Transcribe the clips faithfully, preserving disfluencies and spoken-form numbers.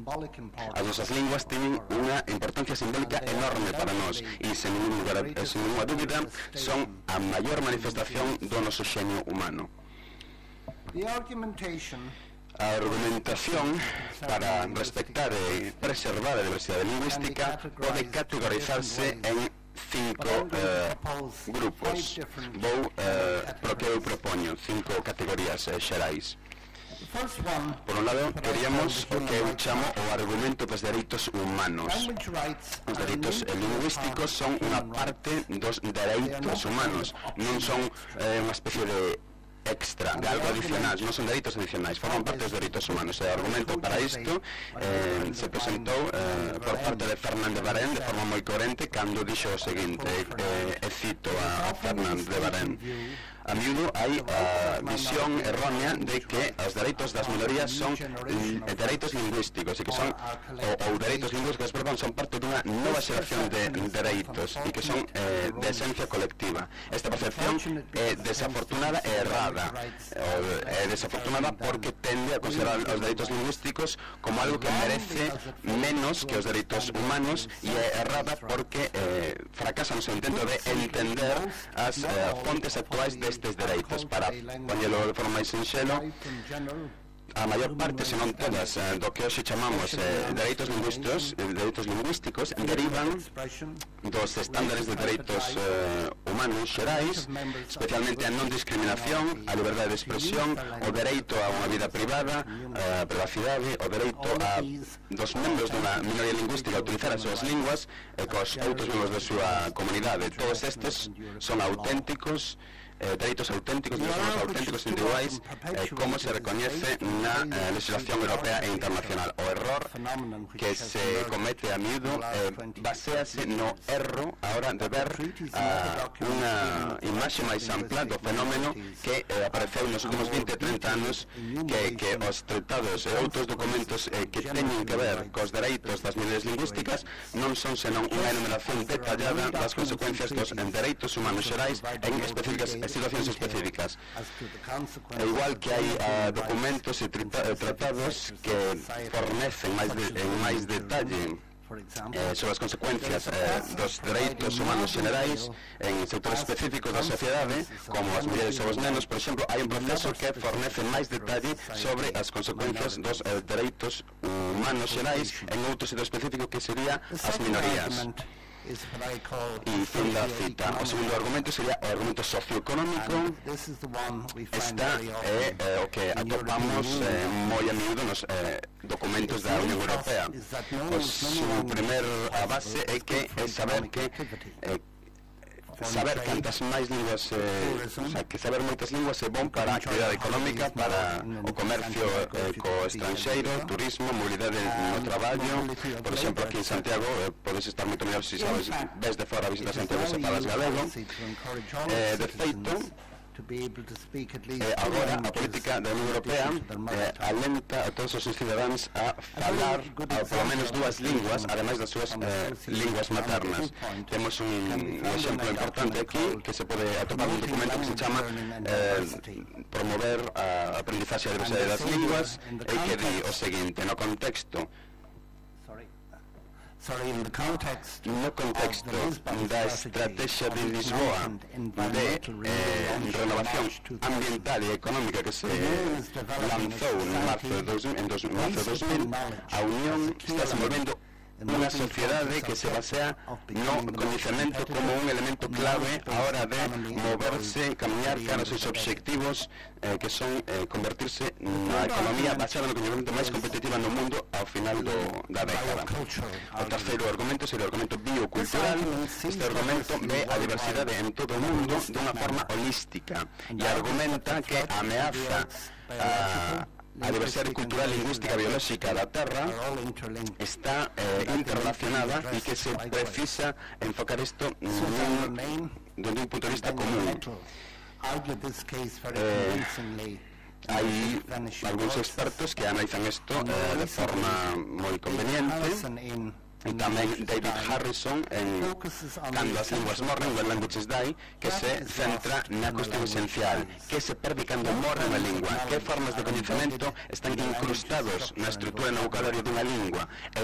As nosas linguas teñen unha importancia simbólica enorme para nós e, sen ninguna dúbida, son a maior manifestación do noso xenio humano. A argumentación para respectar e preservar a diversidade lingüística pode categorizarse en cinco eh, grupos. Vou, eh, pro que eu propoño, cinco categorías eh, xerais. Por un lado, queríamos o que eu chamo o argumento dos dereitos humanos. Os dereitos lingüísticos son unha parte dos dereitos humanos, non son eh, unha especie de extra, de algo adicional, non son dereitos adicionais, forman parte dos dereitos humanos. E o argumento para isto eh, se presentou eh, por parte de Fernand de Varenne de forma moi coherente cando dixo o seguinte, eh, e cito a, a Fernand de Varenne: a miúdo hai a visión errónea de que os dereitos das minorías son dereitos lingüísticos e que son ou, ou dereitos lingüísticos, perdón, son parte dunha nova xeración de dereitos e que son eh, de esencia colectiva. Esta percepción é desafortunada e errada. É desafortunada porque tende a considerar os dereitos lingüísticos como algo que merece menos que os dereitos humanos, e é errada porque eh, fracasa no seu intento de entender as eh, fontes actuais destes dereitos. Para poñelo de forma máis sinxelo, a maior parte, se non todas, eh, do que hoxe chamamos eh, dereitos lingüísticos, eh, dereitos lingüísticos derivan dos estándares de dereitos eh, humanos xerais, especialmente a non discriminación, a liberdade de expresión, o dereito a unha vida privada, a privacidade, o dereito a dos membros dunha minoría lingüística a utilizar as súas linguas e cos outros membros da súa comunidade. Todos estes son auténticos Eh, dereitos auténticos, derechos auténticos individuais, eh, como se recoñece na eh, legislación europea e internacional. O error que se comete a miúdo eh, basease no erro a hora de ver uh, unha imaxe máis ampla do fenómeno que eh, apareceu nos últimos vinte a trinta anos, que, que os tratados e outros documentos eh, que teñen que ver cos dereitos das minorías lingüísticas non son senón unha enumeración detallada das consecuencias dos dereitos humanos xerais en específicas situacións específicas. E igual que hai uh, documentos e tratados que fornecen máis de, en máis detalle eh, sobre as consecuencias eh, dos dereitos humanos generais en sectores específicos da sociedade, como as mulleres ou os nenos, por exemplo, hai un proceso que fornece máis detalle sobre as consecuencias dos eh, dereitos humanos xerais en outro sector específico que sería as minorías. E fin da cita. O segundo argumento sería o argumento socioeconómico. Esta é eh, o que atopamos eh, moi a miúdo nos eh, documentos da Unión Europea. O seu primer a base é que é saber que eh, saber cantas máis linguas, eh, o sea, que saber moitas linguas é bon para a actividade económica, para o comercio eh, co estranxeiro, turismo, mobilidade no traballo. Por exemplo, aquí en Santiago eh, podes estar moito mellor se sabes, desde fora a visitar Santiago se falas galego. Eh, de feito, Eh, agora a política da Unión Europea eh, alenta a todos os cidadáns a falar a, polo menos dúas linguas, ademais das súas eh, linguas maternas. Temos un, un exemplo importante aquí que se pode atopar un documento que se chama eh, promover a aprendizaxe e a diversidade das linguas, e que di o seguinte: no contexto no contexto da estrategia de Lisboa de eh, renovación ambiental e económica que se lanzou en marzo de dos mil, a Unión está desenvolvendo unha sociedade que se basea no coñecemento como un elemento clave a hora de moverse, camiñar cara aos seus obxectivos, eh, que son eh, convertirse na economía basada no coñecemento máis competitiva no mundo ao final do, da década. O terceiro argumento sería o argumento biocultural. Este argumento ve a diversidade en todo o mundo dunha forma holística e argumenta que a ameaza a a diversidade cultural e lingüística biolóxica da Terra está eh, interrelacionada e que se precisa enfocar isto desde un punto de vista común. Eh, hai algúns expertos que analizan isto eh, de forma moi conveniente. tamén David Harrison en Cando as linguas morren, When Languages Die, que se centra na cuestión esencial, que se perde cando morre unha lingua, que formas de coñecemento están incrustados na estrutura e no vocabulario dunha lingua, e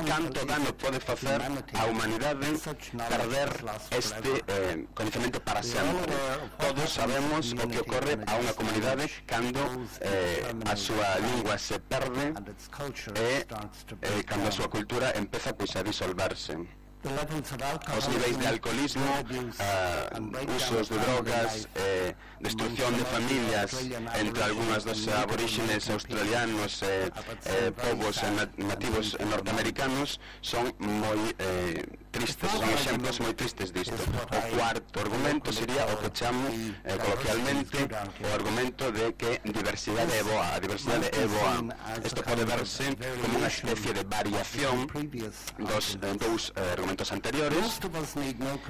canto dano pode facer a humanidade perder este eh, coñecemento para sempre. Todos sabemos o que ocorre a unha comunidade cando eh, a súa lingua se perde e eh, cando a súa cultura empeza pois a disolverse. Os niveis de alcoholismo, uh, usos de drogas, eh, destrucción de familias entre algunhas dos aborígenes australianos e eh, eh, povos nativos norteamericanos son moi eh, tristes, son exemplos moi tristes disto. O cuarto argumento sería o que chamo eh, coloquialmente o argumento de que diversidade é boa, a diversidade é boa. Isto pode verse como unha especie de variación dos eh, dous eh, argumentos anteriores.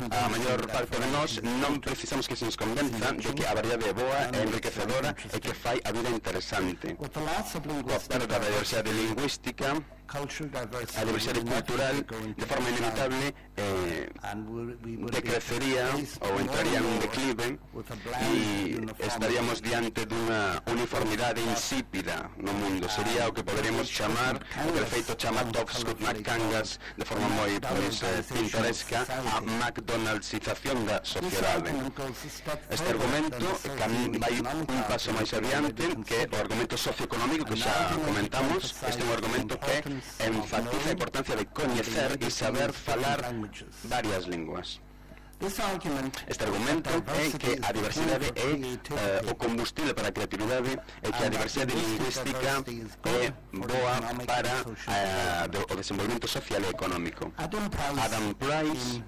A maior parte de nós non precisamos que se nos convenza de que a variedade é boa, é enriquecedora e que fai a vida interesante. Coa perda da diversidade lingüística, a diversidade cultural, de forma inevitable, eh, decrecería ou entraría en un declive e estaríamos diante dunha uniformidade insípida no mundo. Sería o que poderíamos chamar, o que de feito chama Doug Scott McCangas de forma moi pois, eh, pintoresca, a McDonaldsización da sociedade. Este argumento vai un paso máis adiante que o argumento socioeconómico que xa comentamos. Este é un argumento que enfatiza a importancia de coñecer e saber falar varias linguas. Este argumento é que a diversidade é eh, o combustible para a creatividade e que a diversidade lingüística é boa para eh, o desenvolvemento social e económico. Adam Price,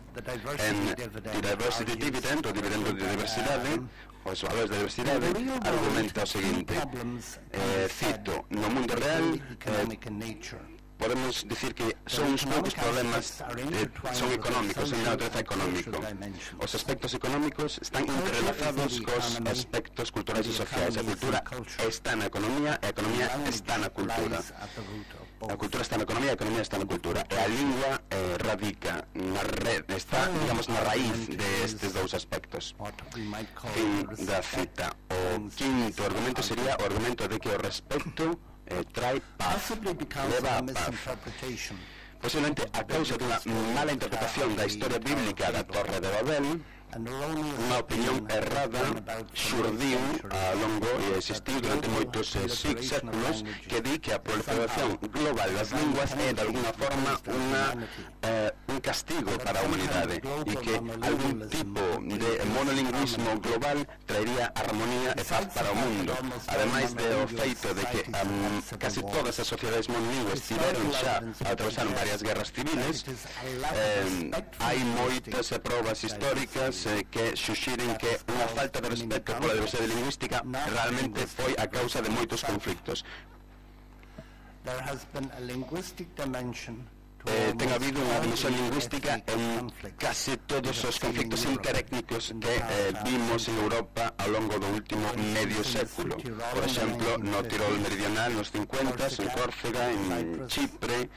en The Diversity Dividend, o dividendo de diversidade, os valores da diversidade, argumenta o seguinte, eh, cito, no mundo real, eh, podemos dicir que son uns poucos problemas eh, son económicos, son de natureza económico. Os aspectos económicos están interrelazados cos aspectos culturais e sociais. A cultura está na economía e a economía está na cultura. A cultura está na economía e a economía está na cultura. E a lingua eh, radica na red, está, digamos, na raíz destes dous aspectos. Fin da cita. O quinto argumento sería o argumento de que o respecto Eh, trae paz, leva a paz. Posiblemente a causa dunha mala interpretación da historia bíblica da Torre de Babel, unha opinión errada xurdiu ao longo e existiu durante moitos eh, séculos que di que a proliferación global das linguas é de alguna forma unha, eh, un castigo para a humanidade e que algún tipo de monolingüismo global traería armonía e paz para o mundo, ademais de o feito de que um, casi todas as sociedades monolingües tiveron xa atravesaron varias guerras civiles. eh, hai moitas eh, probas históricas que suxiren que unha falta de respeto pola diversidade lingüística realmente foi a causa de moitos conflictos. Eh, ten habido unha dimensión lingüística en case todos os conflictos interétnicos que eh, vimos en Europa ao longo do último medio século. Por exemplo, no Tirol meridional nos cincuentas, en Córcega, en Chipre,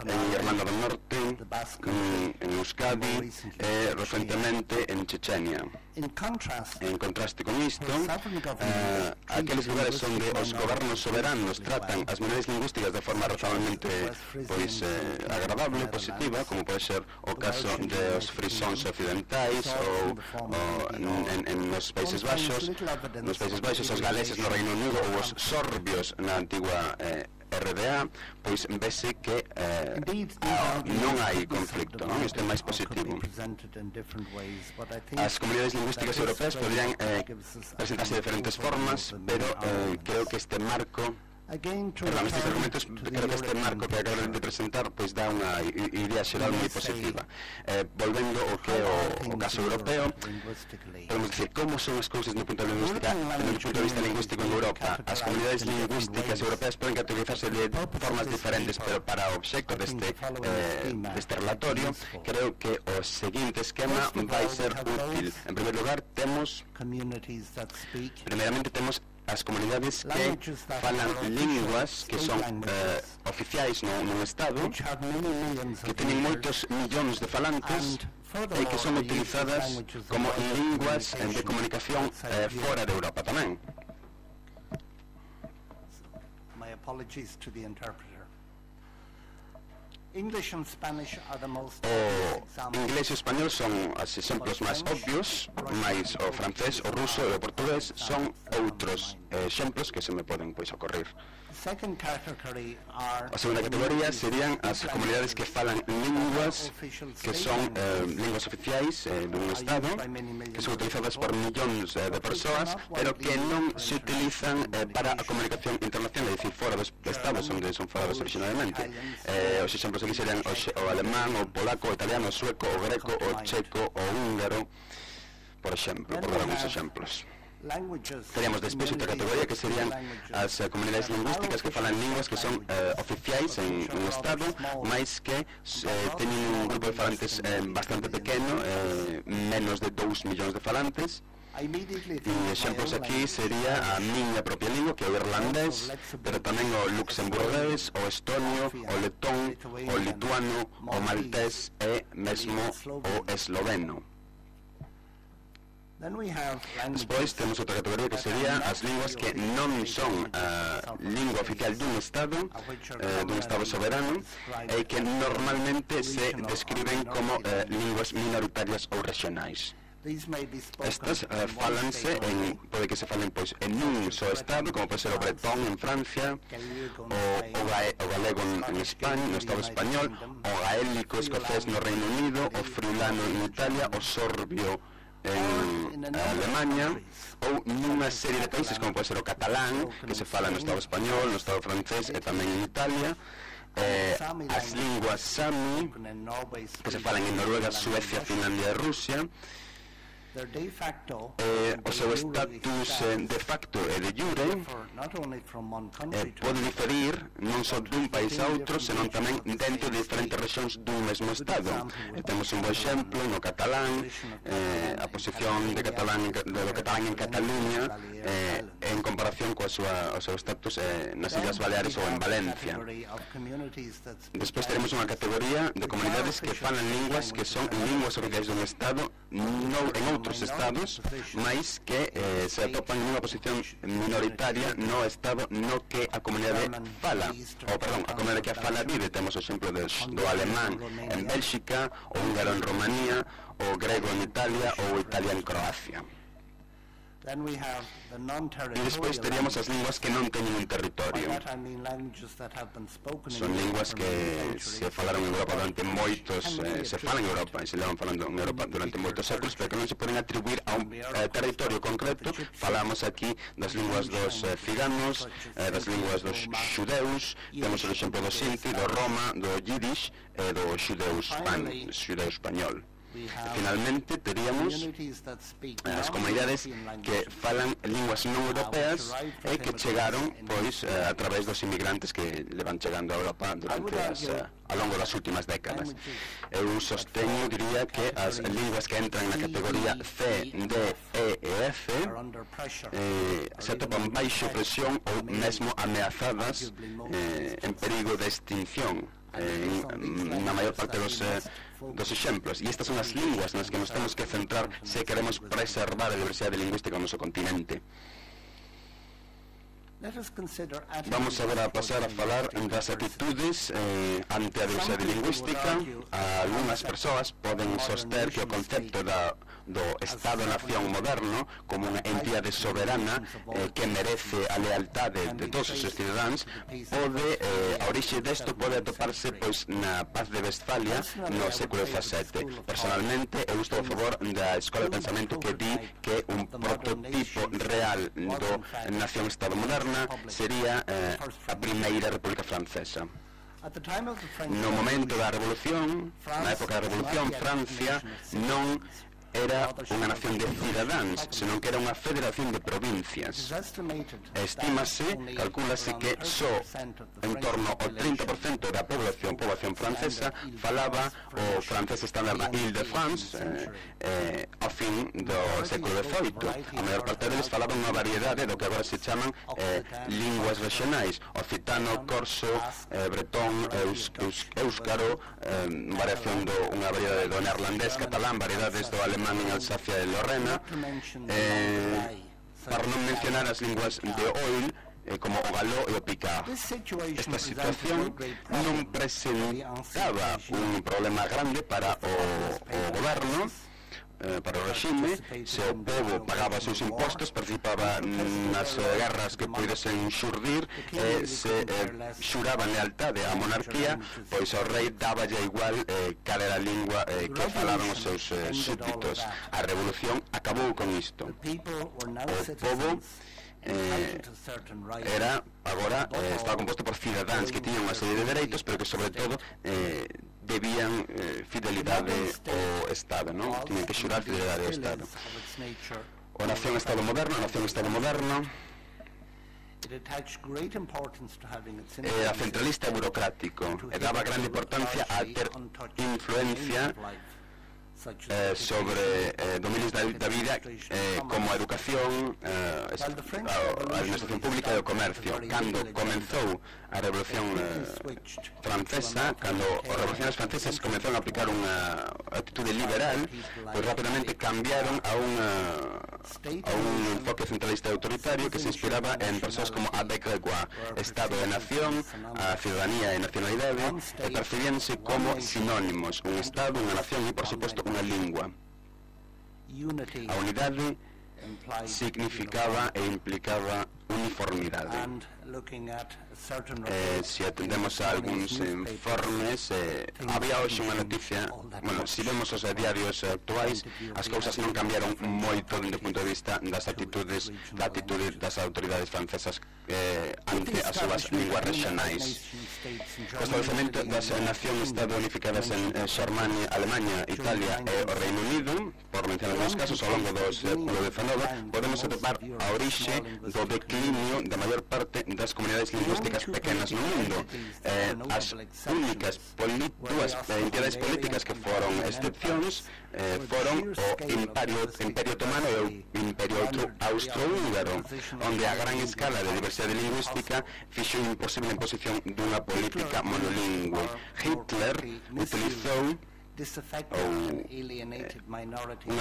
en Irlanda do Norte, en, en Euskadi e recentemente en Chechenia. En contraste con isto, eh, aqueles lugares onde os gobernos soberanos tratan as minorías lingüísticas de forma razonablemente pois, eh, agradable, positiva, como pode ser o caso dos frisóns occidentais ou, ou en, en nos Países Baixos, nos Países Baixos, os galeses no Reino Unido ou os sorbios na antigua eh, R D A, pois vese que eh, non hai conflicto, non? Isto é máis positivo. As comunidades lingüísticas europeas poderían eh, presentarse de diferentes formas, pero eh, creo que este marco Perdón, estes argumentos, creo que este marco que acabo de presentar pois dá unha idea xeral moi positiva. Eh, volvendo ao que o, o caso europeo, podemos dicir como son as cousas no punto de vista no punto de vista lingüístico en Europa. As comunidades lingüísticas europeas poden categorizarse de formas diferentes, pero para o obxecto deste, eh, deste relatorio, creo que o seguinte esquema vai ser útil. En primeiro lugar, temos primeiramente temos as comunidades que falan linguas que son eh, oficiais no, no Estado, que teñen moitos millóns de falantes e que son utilizadas como linguas de comunicación eh, fora de Europa tamén. My apologies to the interpreter. English and Spanish are the most O inglés e español son os exemplos máis obvios, máis o francés, o ruso e o portugués son outros exemplos que se me poden pois ocorrer. A segunda categoría serían as comunidades que falan linguas que son eh, linguas oficiais eh, dun Estado, que son utilizadas por millóns eh, de persoas, pero que non se utilizan eh, para a comunicación internacional, é dicir, fora dos Estados onde son faladas originalmente. Eh, os exemplos aquí serían o, o alemán, o polaco, o italiano, o sueco, o greco, o checo, o húngaro, por exemplo, por dar alguns exemplos. Teríamos despois outra categoría que serían as uh, comunidades lingüísticas que falan linguas que son uh, oficiais en un Estado, máis que uh, teñen un grupo de falantes uh, bastante pequeno, uh, menos de dous millóns de falantes. E exemplos aquí sería a miña propia lingua, que é o irlandés, pero tamén o luxemburgués, o estonio, o letón, o lituano, o maltés e mesmo o esloveno. Despois temos outra categoría que sería as linguas que non son a lingua oficial dun Estado, eh, dun Estado soberano, e que normalmente se describen como eh, linguas minoritarias ou regionais. Estas uh, falanse en, pode que se falen pois en un só Estado, como pode ser o bretón en Francia, o, o, gae, o galego en, en España, no Estado español, o gaélico escocés no Reino Unido, o friulano en Italia, o sorbio en Alemania, ou nunha serie de países como pode ser o catalán, que se fala no Estado español, no Estado francés e tamén en Italia. Eh, as linguas Sami, que se falan en Noruega, Suecia, Finlandia e Rusia. Eh, o seu estatus eh, de facto e de jure eh, pode diferir non só dun país a outro, senón tamén dentro de diferentes rexións dun mesmo Estado. Eh, temos un bo exemplo no catalán, eh, a posición de catalán, de do catalán en Cataluña eh, en comparación coa súa, o seu estatus eh, nas Illas Baleares ou en Valencia. Despois teremos unha categoría de comunidades que falan linguas que son linguas oficiais dun Estado no, en outros Estados, máis que eh, se atopan nunha posición minoritaria no Estado no que a comunidade fala, ou perdón, a comunidade que a fala vive. Temos o exemplo de, do alemán en Bélxica, o húngaro en Romanía, o grego en Italia ou o italiano en Croacia. E despois teríamos as linguas que non teñen un territorio. Son linguas que se falaron en Europa durante moitos, eh, se falan en Europa e se levan falando en Europa durante moitos séculos, pero que non se poden atribuir a un eh, territorio concreto. Falamos aquí das linguas dos eh, ciganos, eh, das linguas dos xudeus, temos o exemplo do Sinti, do Roma, do Yiddish e do xudeu español. Finalmente teríamos as comunidades que falan linguas non europeas e que chegaron pois a través dos inmigrantes que levan chegando a Europa durante as, ao longo das últimas décadas. Eu sosteño, diría, que as linguas que entran na categoría C, D, E e F eh, se atopan baixo presión ou mesmo ameazadas eh, en perigo de extinción eh, na maior parte dos eh, dos exemplos, e estas son as linguas nas que nos temos que centrar se queremos preservar a diversidade lingüística no noso continente. Vamos agora a pasar a falar das atitudes eh, ante a diversidade lingüística. Algúnas persoas poden soster que o concepto da, do Estado-nación moderno como unha entidade soberana eh, que merece a lealtade de todos os seus cidadáns pode, eh, a orixe desto pode atoparse pois na Paz de Westfalia no século dezasete. Personalmente eu estou a favor da escola de pensamento que di que un prototipo real do nación-Estado moderna sería eh, a primeira República Francesa. No momento da Revolución, na época da Revolución, Francia non era unha nación de cidadáns, senón que era unha federación de provincias. Estímase, calcúlase que só en torno ao trinta por cento da población, población francesa, falaba o francés estándar na Ile-de-France eh, eh, ao fin do século dezoito. A maior parte deles falaban unha variedade do que agora se chaman eh, linguas regionais: occitano, corso, eh, bretón, eus, eus, éuscaro, eh, variación do, unha variedade do neerlandés, catalán, variedades do alemán en Alsacia e Lorena, eh, para non mencionar as linguas de Oil, eh, como o galó e o picard. Esta situación non presentaba un problema grande para o, o goberno, eh, para o regime. Se o povo pagaba os seus impostos, participaba nas eh, guerras que pudesen xurdir, e se eh, xuraban lealtade á monarquía, pois ao rei dáballe igual eh, cal era a lingua eh, que falaban os seus eh, súbditos. A revolución acabou con isto. O povo Eh, era agora eh, estaba composto por cidadáns que tiñan unha serie de dereitos, pero que sobre todo eh, debían eh, fidelidade ao Estado, non? Tiñan que xurar fidelidade ao Estado. O nación-estado moderno, o nación-estado moderno era centralista e burocrático, e daba grande importancia a ter influencia Eh, sobre eh, dominios da, da vida eh, como a educación, eh, a administración pública e o comercio. Cando comenzou a Revolución eh, Francesa, cando os revolucionarios franceses comenzaron a aplicar unha actitude liberal, pois rapidamente cambiaron a unha a un enfoque centralista e autoritario que se inspiraba en persoas como Avec Grégoire. Estado e nación, a ciudadanía e nacionalidade, e percibíanse como sinónimos: un Estado, unha nación e, por suposto, unha lingua. A unidade significaba e implicaba uniformidade. Eh, se atendemos a algúns informes, eh, había hoxe unha noticia, bueno, se vemos os diarios actuais, as cousas non cambiaron moito dende o punto de vista das actitudes da actitude das autoridades francesas eh, ante as súas linguas regionais. O establecemento das nacións-estado unificadas en eh, Xermania, Alemanha, Italia e o Reino Unido, por mencionar algúns casos ao longo do século dezenove, podemos atopar a orixe do declinio da maior parte das comunidades lingüísticas pequenas no mundo. Eh, as únicas dúas eh, entidades políticas que foron excepcións eh, foron o Imperio, Imperio Otomano e o Imperio Austrohúngaro, onde a gran escala de diversidade lingüística fixo imposible a imposición dunha política monolingüe. Hitler utilizou ou, eh,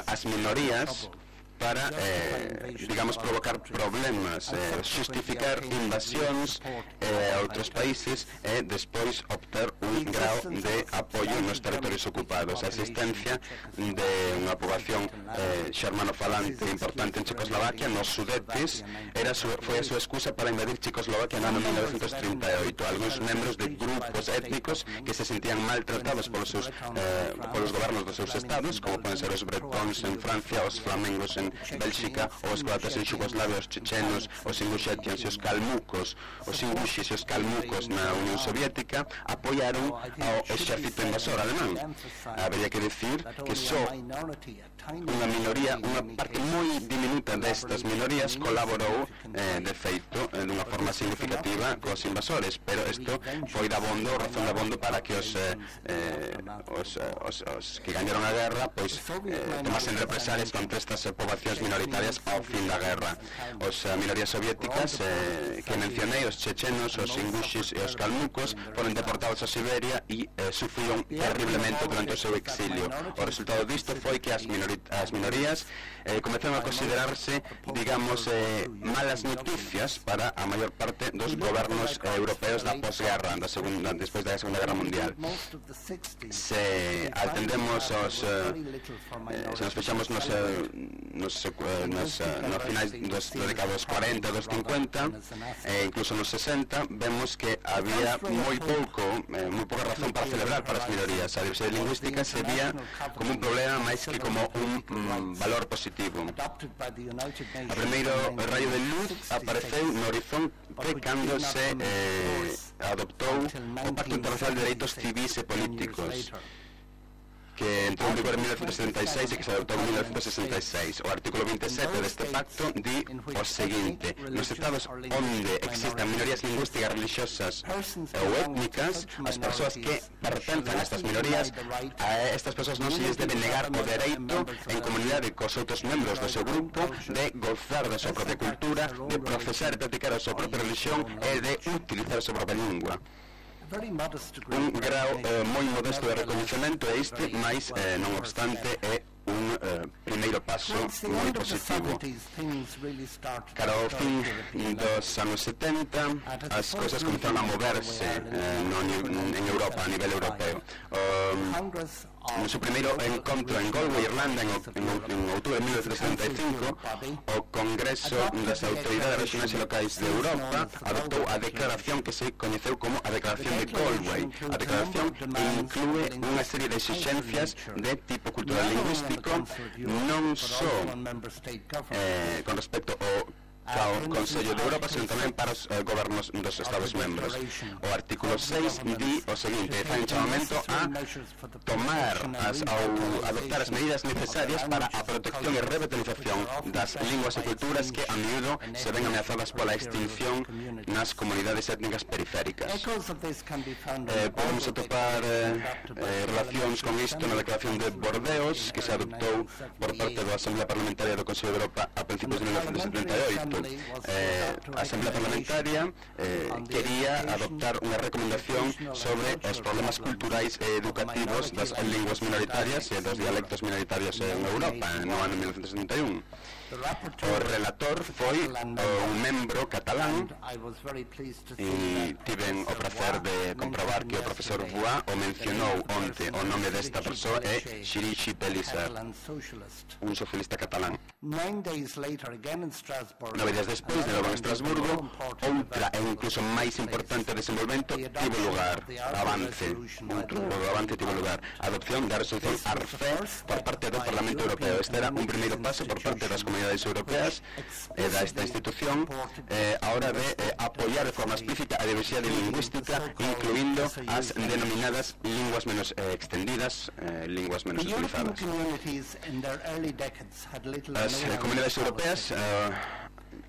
as minorías para, eh, digamos, provocar problemas, eh, justificar invasións eh, a outros países e despois obter un grau de apoio nos territorios ocupados. A existencia de unha poboación eh, xermanofalante importante en Checoslovaquia, nos Sudetes, era su, foi a súa excusa para invadir Checoslovaquia no ano mil novecentos trinta e oito. Alguns membros de grupos étnicos que se sentían maltratados polos, seus, eh, polos gobernos dos seus estados, como poden ser os bretóns en Francia, os flamengos en Bélxica, os croatas en Xugoslavia, os chechenos, os inguxetians e os calmucos, os inguxis e os calmucos na Unión Soviética, apoiaron ao exército invasor alemán. Habería que decir que só unha minoría, unha parte moi diminuta destas minorías colaborou eh, de feito eh, dunha forma significativa cos invasores, pero isto foi dabondo, razón dabondo para que os, eh, eh, os, os, os que gañaron a guerra pois eh, tomasen represalias contra estas eh, poboacións minoritarias ao fin da guerra. Os uh, minorías soviéticas eh, que mencionei, os chechenos, os inguxis e os calmucos, foron deportados a Siberia e eh, sufriron terriblemente durante o seu exilio. O resultado disto foi que as, minori as minorías eh, comenzaron a considerarse, digamos, eh, malas noticias para a maior parte dos gobernos eh, europeos da posguerra, da segunda, despois da Segunda Guerra Mundial. Se atendemos os, eh, eh, se nos fechamos nos, eh, nos, eh, nos, eh, nos finais dos, dos décadas cuarenta, dos cincuenta, e incluso nos sesenta, vemos que había moi pouco, eh, moi pouca razón para celebrar para as minorías. A diversidade lingüística se vía como un problema máis que como un mm, valor positivo. O primeiro raio de luz apareceu no horizonte cando se eh, adoptou o Pacto Internacional de Dereitos Civis e Políticos. que entrou en vigor en mil novecientos setenta e seis e que se adoptou en mil novecientos sesenta e seis. O artículo veinte e sete deste pacto di o seguinte: nos estados onde existan minorías lingüísticas, religiosas ou étnicas, as persoas que pertencen a estas minorías, a estas persoas non se lles debe negar o dereito en comunidade cos outros membros do seu grupo de gozar da súa propia cultura, de profesar e practicar a súa propia religión e de utilizar a súa propia lingua. Un grau eh, moi modesto de reconhecimento é este, mas eh, non obstante é un eh, primeiro paso moi positivo. Cara ao fin dos anos setenta, as cousas comezaron a moverse eh, no, en Europa, a nivel europeo. Um, no seu primeiro encontro en Galway, Irlanda, en, en, en outubro de mil novecientos setenta e cinco, o Congreso das Autoridades Regionais e Locais de Europa adoptou a declaración que se coñeceu como a Declaración de Galway. A declaración inclúe unha serie de exixencias de tipo cultural lingüístico, non só eh, con respecto ao ao Consello de Europa, sino tamén para os eh, gobernos dos Estados membros. O artículo seis di o seguinte: fai un chamamento a tomar as, ao adoptar as medidas necesarias para a protección e revitalización das linguas e culturas que a miúdo se ven ameazadas pola extinción nas comunidades étnicas periféricas. Eh, podemos atopar eh, eh, relacións con isto na Declaración de Bordeos, que se adoptou por parte da Asamblea Parlamentaria do Consello de Europa a principios de mil novecientos setenta e oito. Eh, a Asamblea Parlamentaria eh, quería adoptar unha recomendación sobre os problemas culturais e educativos das linguas minoritarias e dos dialectos minoritarios en Europa no ano mil novecientos setenta e un. O relator foi un membro catalán e tiven o prazer de comprobar que o profesor Voix o mencionou onte. O nome desta persoa é Chirishi Pellicer, un socialista catalán. Nove días despois, de novo en Estrasburgo, outra e incluso máis importante desenvolvemento tivo lugar, avance, outro avance tivo lugar, a adopción da resolución ARFE por parte do Parlamento Europeo. Este era un primeiro paso por parte das comunidades europeas e da esta institución eh, a hora de eh, apoiar de forma explícita a diversidade lingüística, incluindo as denominadas linguas menos eh, extendidas, eh, linguas menos utilizadas. As eh, comunidades europeas eh,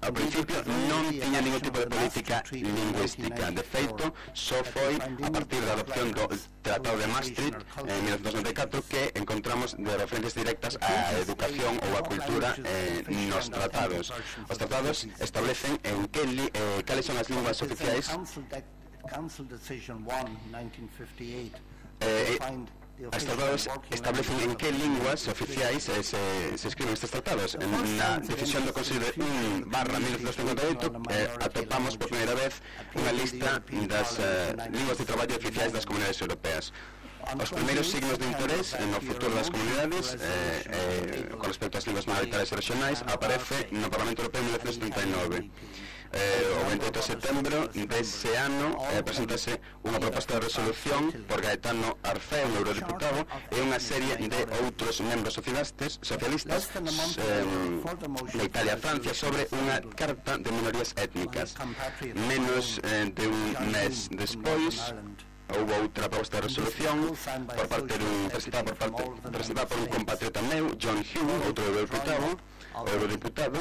ao principio non tiña ningún tipo de política lingüística. De feito, só foi a partir da adopción do Tratado de Maastricht en mil novecientos noventa e catro que encontramos de referencias directas á educación ou á cultura eh, nos tratados. Os tratados establecen en que li, eh, cales son as linguas oficiais eh, Os tratados establecen en que linguas oficiais eh, se, se escriben estes tratados. En na decisión do Consello de un barra mil novecientos cincuenta e oito eh, atopamos por primeira vez unha lista das eh, linguas de traballo oficiais das comunidades europeas. Os primeiros signos de interés no futuro das comunidades eh, eh, con respecto ás linguas minoritarias e regionais aparece no Parlamento Europeo en mil novecientos setenta e nove. Eh, o veintioito de setembro dese ano eh, presentase unha proposta de resolución por Gaetano Arce, un eurodiputado, e unha serie de outros membros socialistas, socialistas eh, de Italia e Francia sobre unha carta de minorías étnicas. Menos eh, de un mes despois houve outra proposta de resolución por parte dun presentada por parte presentada por un compatriota meu, John Hume, outro eurodiputado, eurodiputado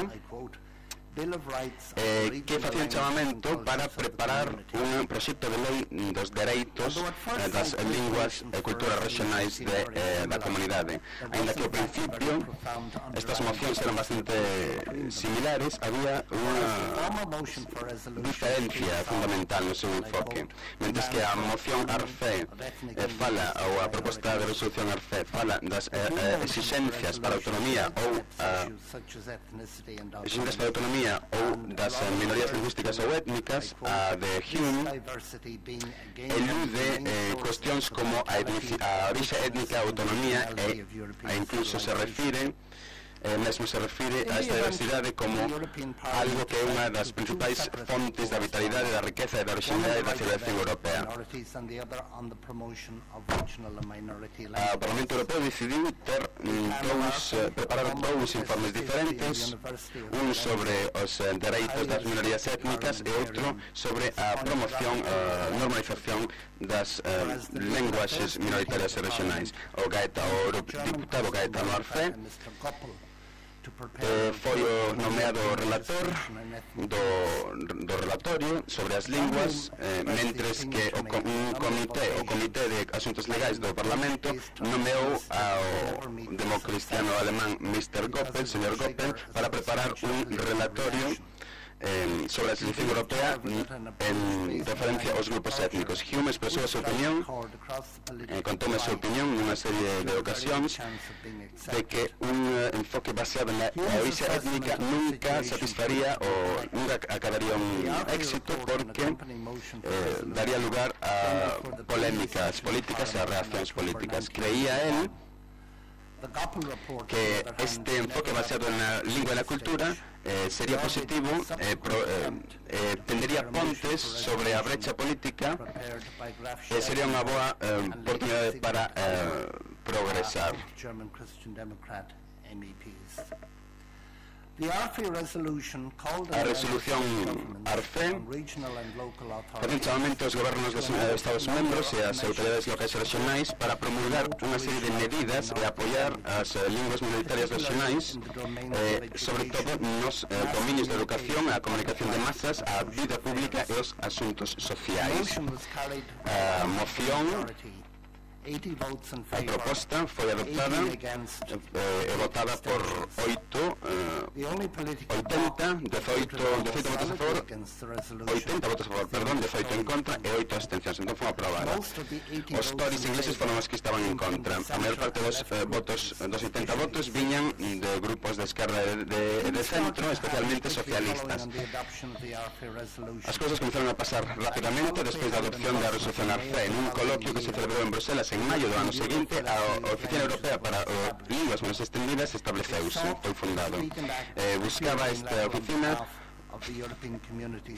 eh, que facía un chamamento para preparar un proxecto de lei dos dereitos eh, das linguas e culturas regionais de, eh, da comunidade. Ainda que ao principio estas mocións eran bastante similares, había unha diferencia fundamental no seu enfoque. Mentres que a moción ARFE eh, fala, ou a proposta de resolución ARFE fala das eh, eh, exixencias para a autonomía ou a exixencias para a autonomía ou das minorías lingüísticas ou étnicas, a de Hume elude eh, cuestións como a, a orixe étnica, a autonomía e, e incluso se refire eh, mesmo se refire a esta diversidade como algo que é unha das principais fontes da vitalidade, da riqueza e da originalidade da civilización europea. O Parlamento Europeo decidiu ter dous, eh, preparar dous informes diferentes, un sobre os eh, dereitos das minorías étnicas e outro sobre a promoción e uh, normalización das uh, lenguaxes minoritarias e regionais. O, Gaeta, o diputado Gaetano Arfe eh, foi o nomeado relator do, do relatorio sobre as linguas, eh, mentres que o, un comité, o Comité de Asuntos Legais do Parlamento nomeou ao democristiano alemán mister Goppel, señor Goppel, para preparar un relatorio Eh, sobre a selección europea en referencia aos grupos étnicos. Hume expresou a súa opinión, eh, contoume a súa opinión nunha serie de ocasións, de que un eh, enfoque baseado na orixe étnica nunca satisfaría ou nunca acabaría un éxito, porque eh, daría lugar a polémicas políticas e a reaccións políticas. Creía él que este enfoque baseado na lingua e na cultura eh, sería positivo, eh, pro, eh, eh, tendería pontes sobre a brecha política e sería unha boa eh, oportunidade para eh, progresar. A resolución Arfe facen chamamento aos gobernos dos Estados membros e ás autoridades locais e regionais para promulgar unha serie de medidas e apoiar as eh, linguas minoritarias regionais, eh, sobre todo nos eh, dominios de educación, a comunicación de masas, a vida pública e os asuntos sociais. A moción A proposta foi adoptada e eh, votada por oito, eh, oitenta, dezoito, dezoito votos a favor, oitenta votos a favor, perdón, dezoito en contra e oito abstencións, entón foi aprobada. Os Tories ingleses foron os que estaban en contra. A maior parte dos eh, votos, dos oitenta votos, viñan de grupos de esquerda e de, de, de centro, especialmente socialistas. As cousas comenzaron a pasar rapidamente despois da adopción da resolución Arfe en un coloquio que se celebrou en Bruselas en maio do ano seguinte. A Oficina Europea para uh, Linguas Menos Extendidas estableceuse, foi fundado. Eh, buscaba esta oficina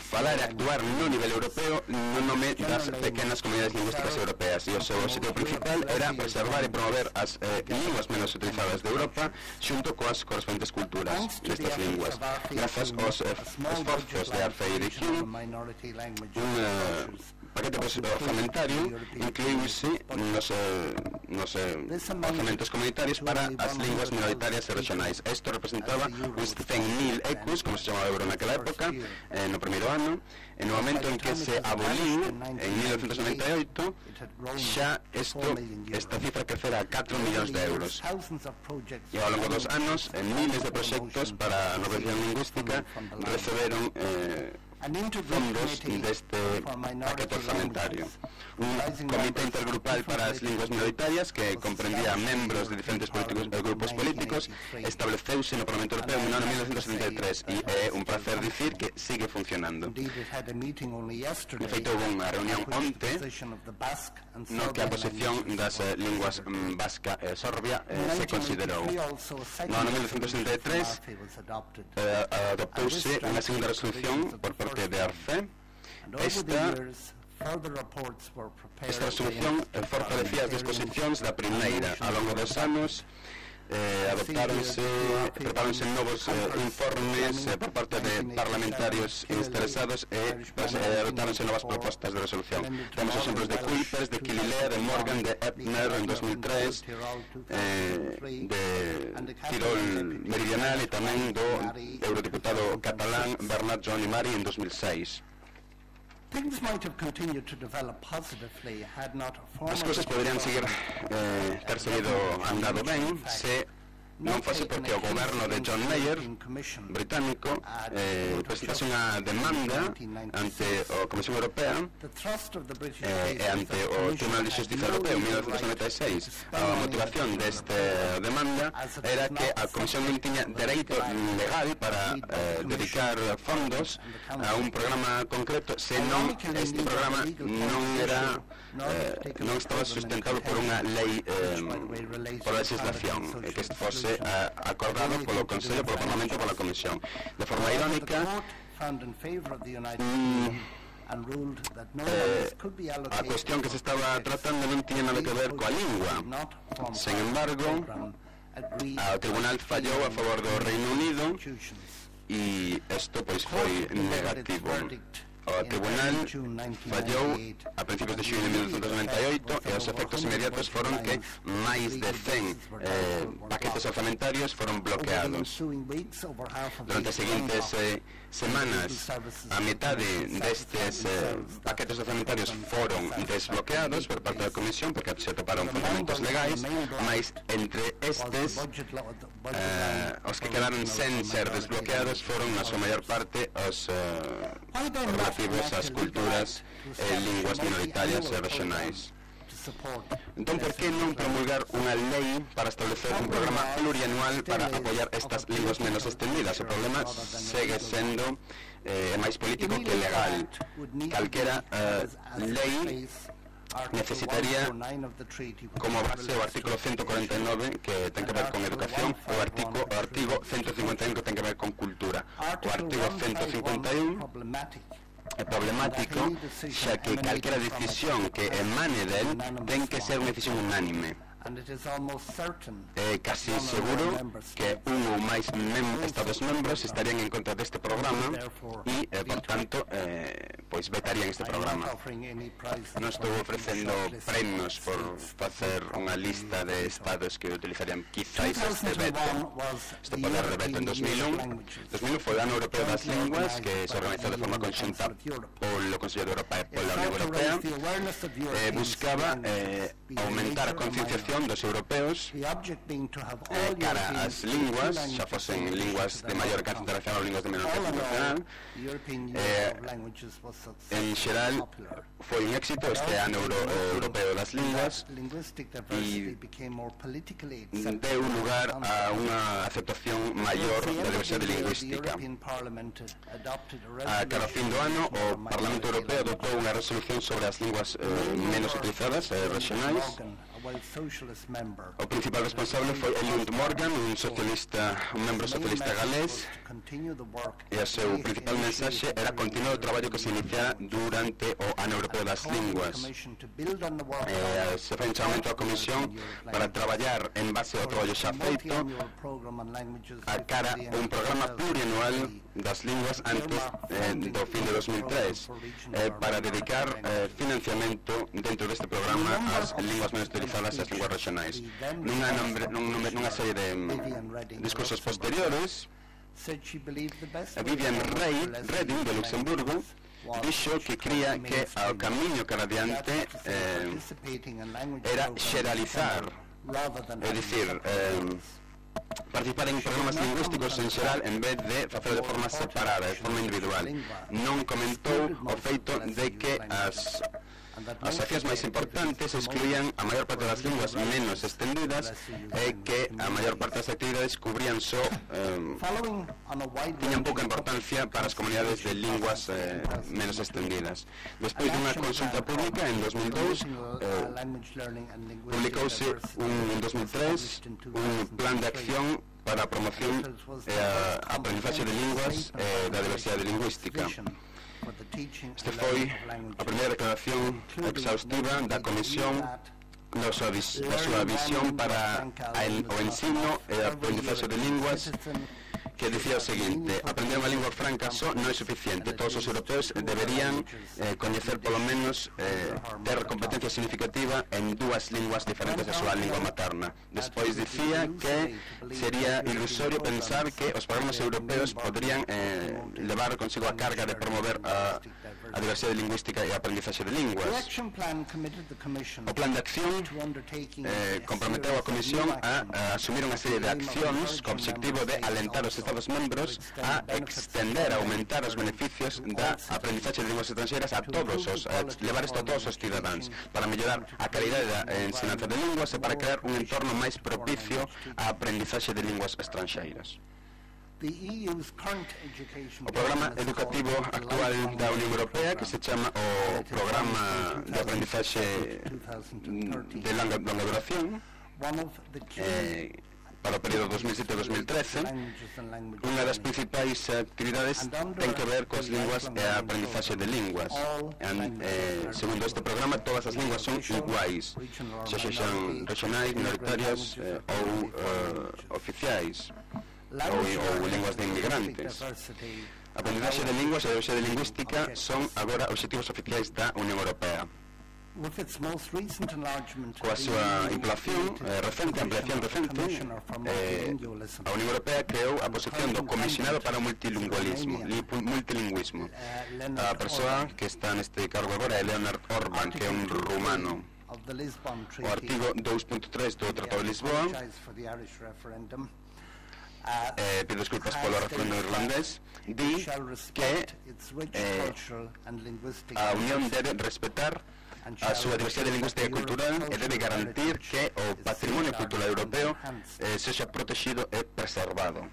falar e actuar no nivel europeo no nome das pequenas comunidades lingüísticas europeas, e o seu objetivo principal era preservar e promover as eh, linguas menos utilizadas de Europa xunto coas correspondentes culturas destas linguas. Grazas aos eh, esforzos de Arfe e de Hume, un eh, paquete orzamentario incluíuse nos, eh, nos eh, orzamentos comunitarios para as linguas minoritarias e regionais. Isto representaba uns cen mil ecus, como se chamaba o euro naquela época, eh, no primeiro ano, e no momento en que se aboliu en mil novecientos noventa e oito, xa isto, esta cifra crecera a catro millóns de euros. E ao longo dos anos, en miles de proxectos para a normalización lingüística receberon eh, fondos deste paquete orzamentario. Un comité intergrupal para as linguas minoritarias que comprendía membros de diferentes políticos, eh, grupos políticos estableceuse no Parlamento Europeo no ano mil novecientos setenta e tres e é un placer dicir que sigue funcionando. De feito, houve unha reunión onte no que a posición das eh, linguas mm, vasca e sorbia eh, se considerou. No ano mil novecientos setenta e tres eh, adoptouse unha segunda resolución por parte de Arfe. Esta Esta resolución fortalecía as disposicións da primeira. Ao longo dos anos eh, adoptáronse, preparáronse novos eh, informes eh, por parte de parlamentarios interesados e pues, eh, adoptáronse novas propostas de resolución. Temos exemplos de Kuipers, de Kililea, de Morgan, de Ebner en dos mil tres, eh, de Tirol Meridional e tamén do eurodiputado catalán Bernat Joan Imari en dos mil seis. As cousas poderían seguir eh, ter seguido andado ben se non fose porque o goberno de John Major, británico, eh, presentase unha demanda ante a Comisión Europea eh, e ante o Tribunal de Xustiza Europeo en mil novecientos noventa e seis. A motivación desta demanda era que a Comisión non tiña dereito legal para eh, dedicar fondos a un programa concreto, senón este programa non era eh, non estaba sustentado por unha lei, eh, por legislación, e que este fose fose uh, acordado polo Consello, polo Parlamento e pola Comisión. De forma irónica, mm, Eh, a cuestión que se estaba tratando non tiña nada que ver coa lingua. Sen embargo, o Tribunal fallou a favor do Reino Unido e isto pois foi negativo. O Tribunal fallou a principios de xullo de mil novecentos noventa e oito e os efectos inmediatos foron que máis de cen eh, paquetes orzamentarios foron bloqueados. Durante as seguintes eh, semanas, a metade destes eh, paquetes orzamentarios foron desbloqueados por parte da Comisión porque se toparon fundamentos legais, mas entre estes eh, os que quedaron sen ser desbloqueados foron na súa maior parte os eh, relativos ás culturas e linguas minoritarias e regionais. Entón, por que non promulgar unha lei para establecer un programa plurianual para apoiar estas linguas menos extendidas? O problema segue sendo eh, máis político que legal. Calquera eh, lei necesitaría como base o artículo ciento cuarenta e nove que ten que ver con educación, o artigo, o artigo ciento cincuenta e un que ten que ver con cultura. O artigo ciento cincuenta e un é problemático, xa que calquera decisión que emane del ten que ser unha decisión unánime. É casi seguro que un ou máis mem estados membros estarían en contra deste programa e, eh, por tanto, eh, pois vetarían este programa. Non estou ofrecendo premios por facer unha lista de estados que utilizarían quizáis este veto. Este poder de veto en dos mil un. dos mil un foi o ano europeo das linguas que se organizou de forma conxunta polo Consello de Europa e pola Unión Europea. Eh, buscaba eh, aumentar a concienciación dos europeos eh, cara ás linguas, xa fosen linguas de maior alcance internacional ou linguas de menor alcance internacional. Eh, en xeral, foi un éxito este ano euro, eh, europeo das linguas e deu lugar a unha aceptación maior da diversidade lingüística. A cada fin do ano, o Parlamento Europeo adoptou unha resolución sobre as linguas eh, menos utilizadas e eh, regionais. O principal responsable foi Elund Morgan, un socialista, un membro socialista galés, e o seu principal mensaxe era continuar o traballo que se iniciara durante o ano europeo das linguas. Eh, se foi un chamamento á Comisión para traballar en base ao traballo xa feito a cara un programa plurianual das linguas antes eh, do fin de dos mil tres eh, para dedicar eh, financiamento dentro deste programa ás linguas menos utilizadas e as linguas regionais. Nunha, nombre, nun, nunha serie de mm, discursos posteriores, Vivian Reding de Luxemburgo dixo que cría que ao camiño cara adiante eh, era xeralizar, é dicir, eh, participar en programas lingüísticos en xeral en vez de facer de forma separada, de forma individual. Non comentou o feito de que as as accións máis importantes excluían a maior parte das linguas menos extendidas e que a maior parte das actividades cubrían só eh, tiñan pouca importancia para as comunidades de linguas eh, menos extendidas. Despois dunha consulta pública en dos mil dous eh, publicouse un, en dos mil tres un plan de acción para a promoción e a aprendizaxe de linguas e da diversidade lingüística. Este foi a primeira declaración exhaustiva da Comisión da súa, vis, da súa visión para a, o ensino e a aprendizaxe de linguas, que dicía o seguinte: aprender unha lingua franca só non é suficiente. Todos os europeos deberían eh, coñecer polo menos eh, ter competencia significativa en dúas linguas diferentes da súa lingua materna. Despois dicía que sería ilusorio pensar que os programas europeos podrían eh, levar consigo a carga de promover a, a diversidade lingüística e a aprendizaxe de linguas. O plan de acción eh, comprometeu a Comisión a, a asumir unha serie de accións co objetivo de alentar os Estados membros a extender, a aumentar os beneficios da aprendizaxe de linguas estranxeiras a todos os, a levar isto a todos os cidadáns, para mellorar a calidade da ensinanza de linguas e para crear un entorno máis propicio á aprendizaxe de linguas estranxeiras. O programa educativo actual da Unión Europea, que se chama o Programa de Aprendizaxe de Longa, longa Duración, eh, para o período dos mil sete a dos mil trece, unha das principais actividades ten que ver coas linguas e a aprendizaxe de linguas. En, eh, segundo este programa, todas as linguas son iguais, xa sexan regionais, minoritarias eh, ou eh, oficiais, ou, ou linguas de inmigrantes. A aprendizaxe de linguas e a diversidade lingüística son agora obxectivos oficiais da Unión Europea. Coa súa inflación eh, recente, ampliación recente, eh, a Unión Europea creou a posición do Comisionado para o Multilingüismo, multilingüismo. A persoa que está neste cargo agora é Leonard Orban, que é un rumano. O artigo dous punto tres do Tratado de Lisboa, eh, pido desculpas polo referendo irlandés, di que eh, a Unión debe respetar a súa diversidade lingüística e cultural e debe garantir que o patrimonio cultural europeo eh, sexa protegido e preservado.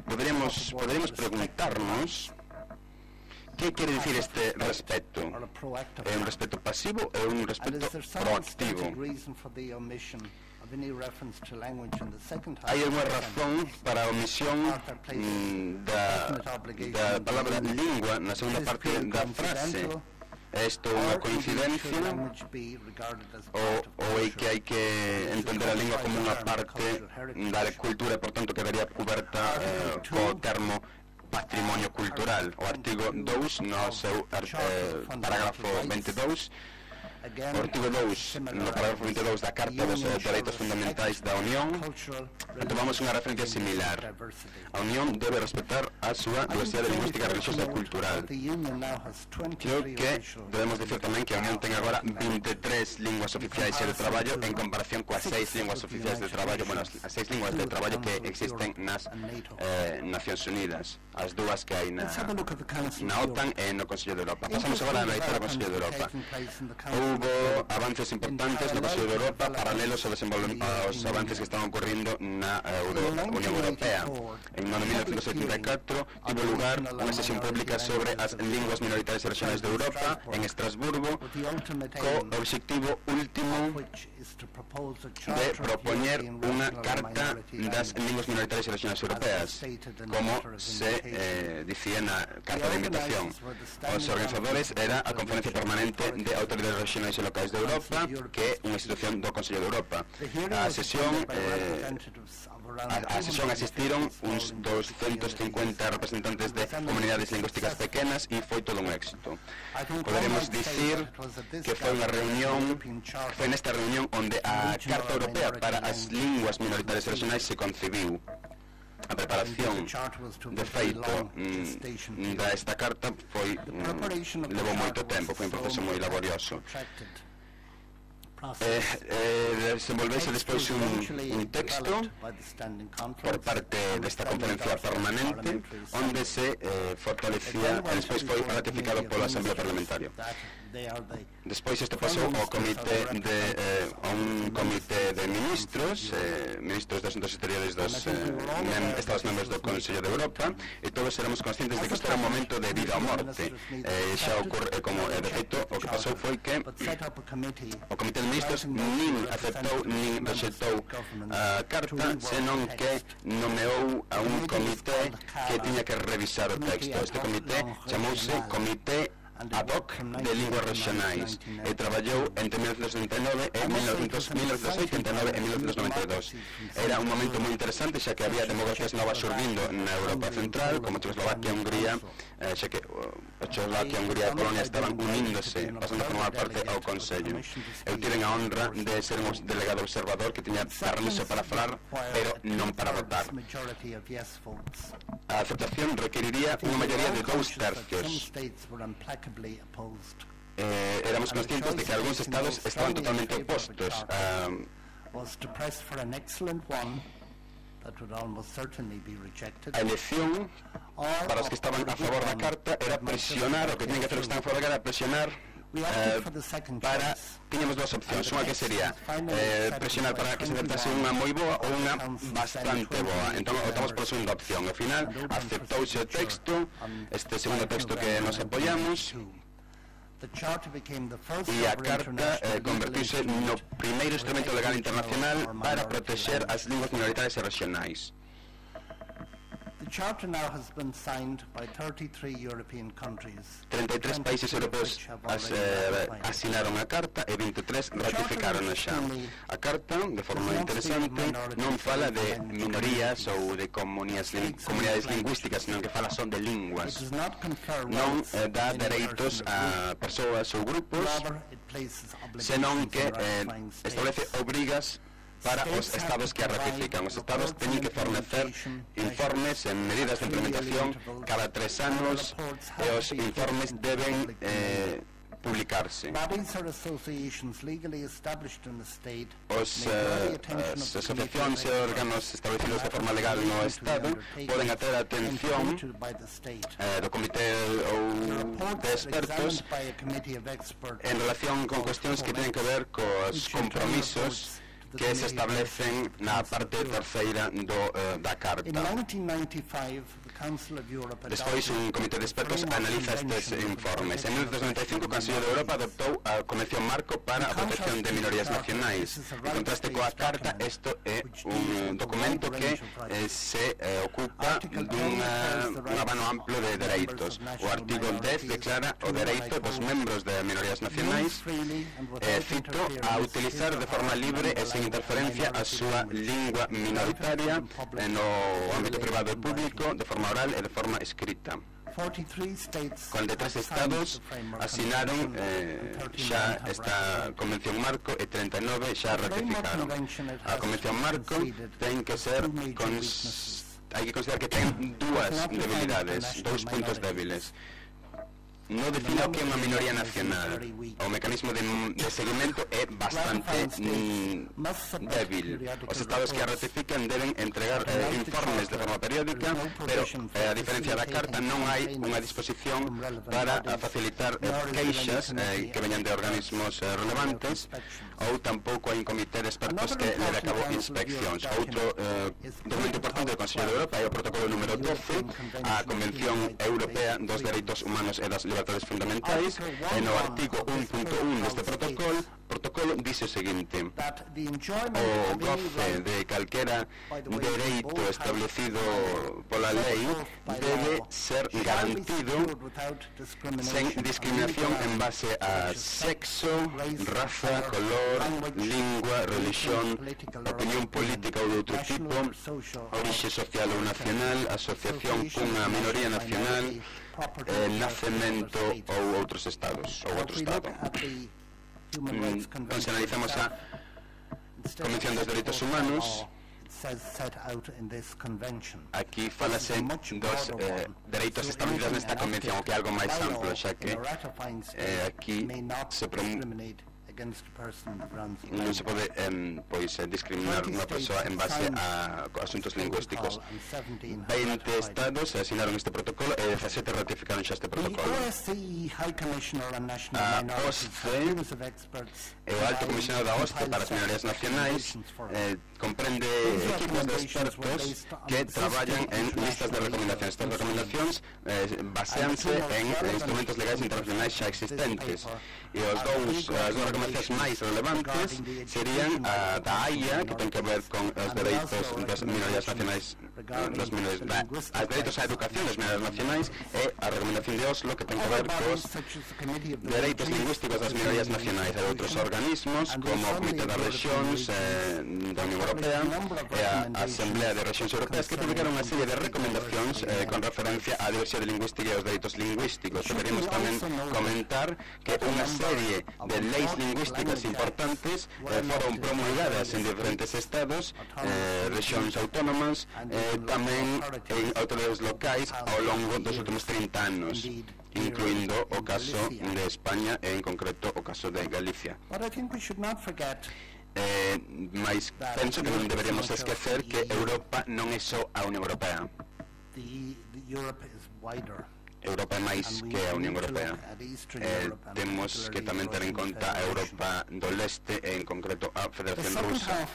Poderíamos, poderíamos preguntarnos que quere dicir este respeto. É un respeto pasivo ou un respeto proactivo? Hai unha razón para a omisión mm, da, da palabra lingua na segunda parte da frase. É isto unha coincidencia ou, ou é que hai que entender a lingua como unha parte da cultura e, por tanto, quedaría coberta eh, co termo patrimonio cultural? O artigo dous no seu eh, parágrafo veintidós, o artigo dous no parágrafo veintidós da Carta dos Dereitos Fundamentais da Unión, tomamos unha referencia similar. A Unión debe respetar a súa diversidade lingüística, religiosa e cultural. Creo que debemos dicir tamén que a Unión ten agora veintitrés linguas oficiais de traballo en comparación coas seis linguas oficiais de traballo, bueno, as seis linguas de traballo que existen nas eh, Nacións Unidas, as dúas que hai na, na OTAN e no Consello de Europa. Pasamos agora a analizar o Consello de Europa. Houbo avances importantes no Consello de Europa paralelos aos, aos avances que estaban ocorrendo na Euro, Unión Europea. En mil novecientos setenta e catro tivo lugar unha sesión pública sobre as linguas minoritarias e regionais de Europa en Estrasburgo, co obxectivo último de propoñer unha carta das linguas minoritarias e regionais europeas, como se eh, dicía na carta de invitación. Os organizadores era a Conferencia Permanente de Autoridades Regionais e Locais de Europa, que é unha institución do Consello de Europa. A sesión eh, a, a sesión asistiron uns doscientos cincuenta representantes de comunidades lingüísticas pequenas e foi todo un éxito. Poderemos dicir que foi unha reunión, foi nesta reunión onde a Carta Europea para as linguas minoritarias e regionais se concibiu. A preparación, de feito, mm, da esta carta foi mm, levou moito tempo, foi un proceso moi laborioso. Eh, eh, desenvolvese despois un, un texto por parte desta conferencia permanente onde se eh, fortalecía e despois foi ratificado pola Asamblea Parlamentaria. Despois isto pasou ao comité de eh, a un comité de ministros, eh, ministros de asuntos exteriores dos eh, mem Estados membros do Consello de Europa, e todos éramos conscientes de que isto era un momento de vida ou morte. Eh, xa ocorre, eh, como eh, de feito, o que pasou foi que o comité de ministros nin aceptou nin rexeitou a carta, senón que nomeou a un comité que tiña que revisar o texto. Este comité chamouse Comité ad hoc de linguas regionais e traballou entre mil novecientos setenta e nove e mil novecientos oitenta e nove e mil novecientos noventa e dos. Era un momento moi interesante, xa que había democracias novas surgindo na Europa Central, como Checoslovaquia e Hungría, eh, xa que uh, Checoslovaquia, Hungría e Polonia estaban uníndose, pasando a formar parte ao Consello. Eu tiven a honra de ser un delegado observador que tiña permiso para falar, pero non para votar. A aceptación requeriría unha maioría de dous tercios. Eh, éramos conscientes de que algúns estados estaban totalmente opostos a, a elección para os que estaban a favor da carta era presionar, o que tienen que hacer os que están a favor da carta era presionar eh, para, tiñamos dúas opcións, unha que sería eh, presionar para que se aceptase unha moi boa ou unha bastante boa. Entón optamos por a segunda opción. Ao final aceptouse o texto, este segundo texto que nos apoiamos. e a Carta eh, convertiuse no primeiro instrumento legal internacional para protexer as linguas minoritarias e regionais. trinta e tres países europeos as, eh, asinaron a Carta e vinte e tres ratificaron xa. A Carta, de forma interesante, non fala de minorías ou de comunidades, comunidades lingüísticas, senón que fala son de linguas. Non eh, dá dereitos a persoas ou grupos, senón que eh, establece obrigas para os estados que a ratifican. Os estados teñen que fornecer informes en medidas de implementación cada tres anos e os informes deben eh, publicarse. Os, eh, as asociacións e órganos establecidos de forma legal no Estado poden atraer a atención eh, do comité ou de expertos en relación con cuestións que teñen que ver cos compromisos que se establecen na parte terceira do, uh, da Carta. Despois, un comité de expertos analiza estes informes. En mil novecientos noventa e cinco, o Consello de Europa adoptou a Convención Marco para a protección de minorías nacionais. En contraste coa Carta, isto é un documento que eh, se eh, ocupa dun uh, abano amplo de dereitos. O artigo dez declara o dereito dos membros de minorías nacionais, eh, cito, a utilizar de forma libre e sen interferencia a súa lingua minoritaria no ámbito privado e público, de forma oral e de forma escrita. cuarenta e tres estados asinaron eh, xa esta Convención Marco e treinta e nove xa ratificaron. A Convención Marco ten que ser cons... hai que considerar que ten dúas debilidades, dous puntos débiles. Non define o que é unha minoría nacional. O mecanismo de, de seguimento é bastante mm, débil. Os estados que a ratifican deben entregar eh, informes de forma periódica, pero eh, a diferencia da Carta non hai unha disposición para a facilitar eh, queixas eh, que veñan de organismos eh, relevantes, ou tampouco hai un comité de expertos que leve a cabo inspeccións. Outro eh, documento importante do Consello de Europa é o protocolo número doce, a Convención Europea dos Dereitos Humanos e das Libertades Fundamentais, e no artigo un punto un deste protocolo, protocolo dice o seguinte: o goce de calquera dereito establecido pola lei debe ser garantido sen discriminación en base a sexo, raza, color, lingua, religión, opinión política ou de outro tipo, orixe social ou nacional, asociación cunha minoría nacional, eh, nacemento ou outros estados, ou outro estado. Mm, entón, se analizamos a Convención dos Dereitos Humanos, aquí falase dos eh, dereitos establecidos nesta convención, o que é algo máis amplo, xa que eh, aquí se promueve non se pode eh, pois, eh, discriminar unha persoa en base a asuntos lingüísticos. veinte estados asinaron este protocolo e dezasete ratificaron xa este protocolo. A O S C e o Alto Comisionado da O S C para as minorías nacionais eh, comprende equipos de expertos que traballan en listas de recomendacións. Estas recomendacións eh, baseanse en instrumentos legais internacionais xa existentes, e os dous, as dúas recomendacións máis relevantes serían a da AIA, que ten que ver con os dereitos das minorías nacionais, das minorías, os dereitos á educación das minorías nacionais, e a recomendación de Oslo, que ten que ver cos dereitos lingüísticos das minorías nacionais, e outros organismos como o Comité das Rexións eh, da Unión Europea e a Asamblea de Rexións Europeas, que publicaron unha serie de recomendacións eh, con referencia á diversidade lingüística e aos dereitos lingüísticos. Deberíamos tamén comentar que unha serie de leis lingüísticas importantes eh, foron promulgadas en diferentes estados, eh, rexións autónomas, eh, tamén en autoridades locais ao longo dos últimos trinta anos, incluindo o caso de España e en concreto o caso de Galicia. Eh, mas penso que non deberíamos esquecer que Europa non é só a Unión Europea. Europa é máis que a Unión Europea. Eh, temos que tamén ter en conta a Europa do Leste e en concreto a Federación Rusa.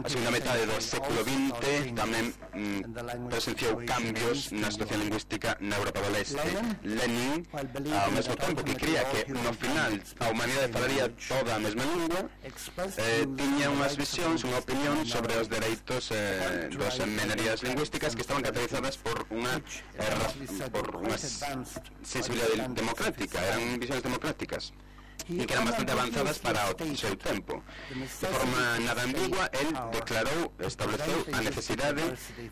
A segunda metade do século vinte tamén mm, presenciou cambios na situación lingüística na Europa do Leste. Lenin, ao mesmo tempo que cría que no final a humanidade falaría toda a mesma lingua, eh, tiña unhas visións, unha opinión sobre os dereitos eh, dos minorías lingüísticas que estaban caracterizadas por unha eh, por unha sensibilidade democrática, eran visións democráticas e que eran bastante avanzadas para o seu tempo. De forma nada ambigua, el declarou, estableceu a necesidade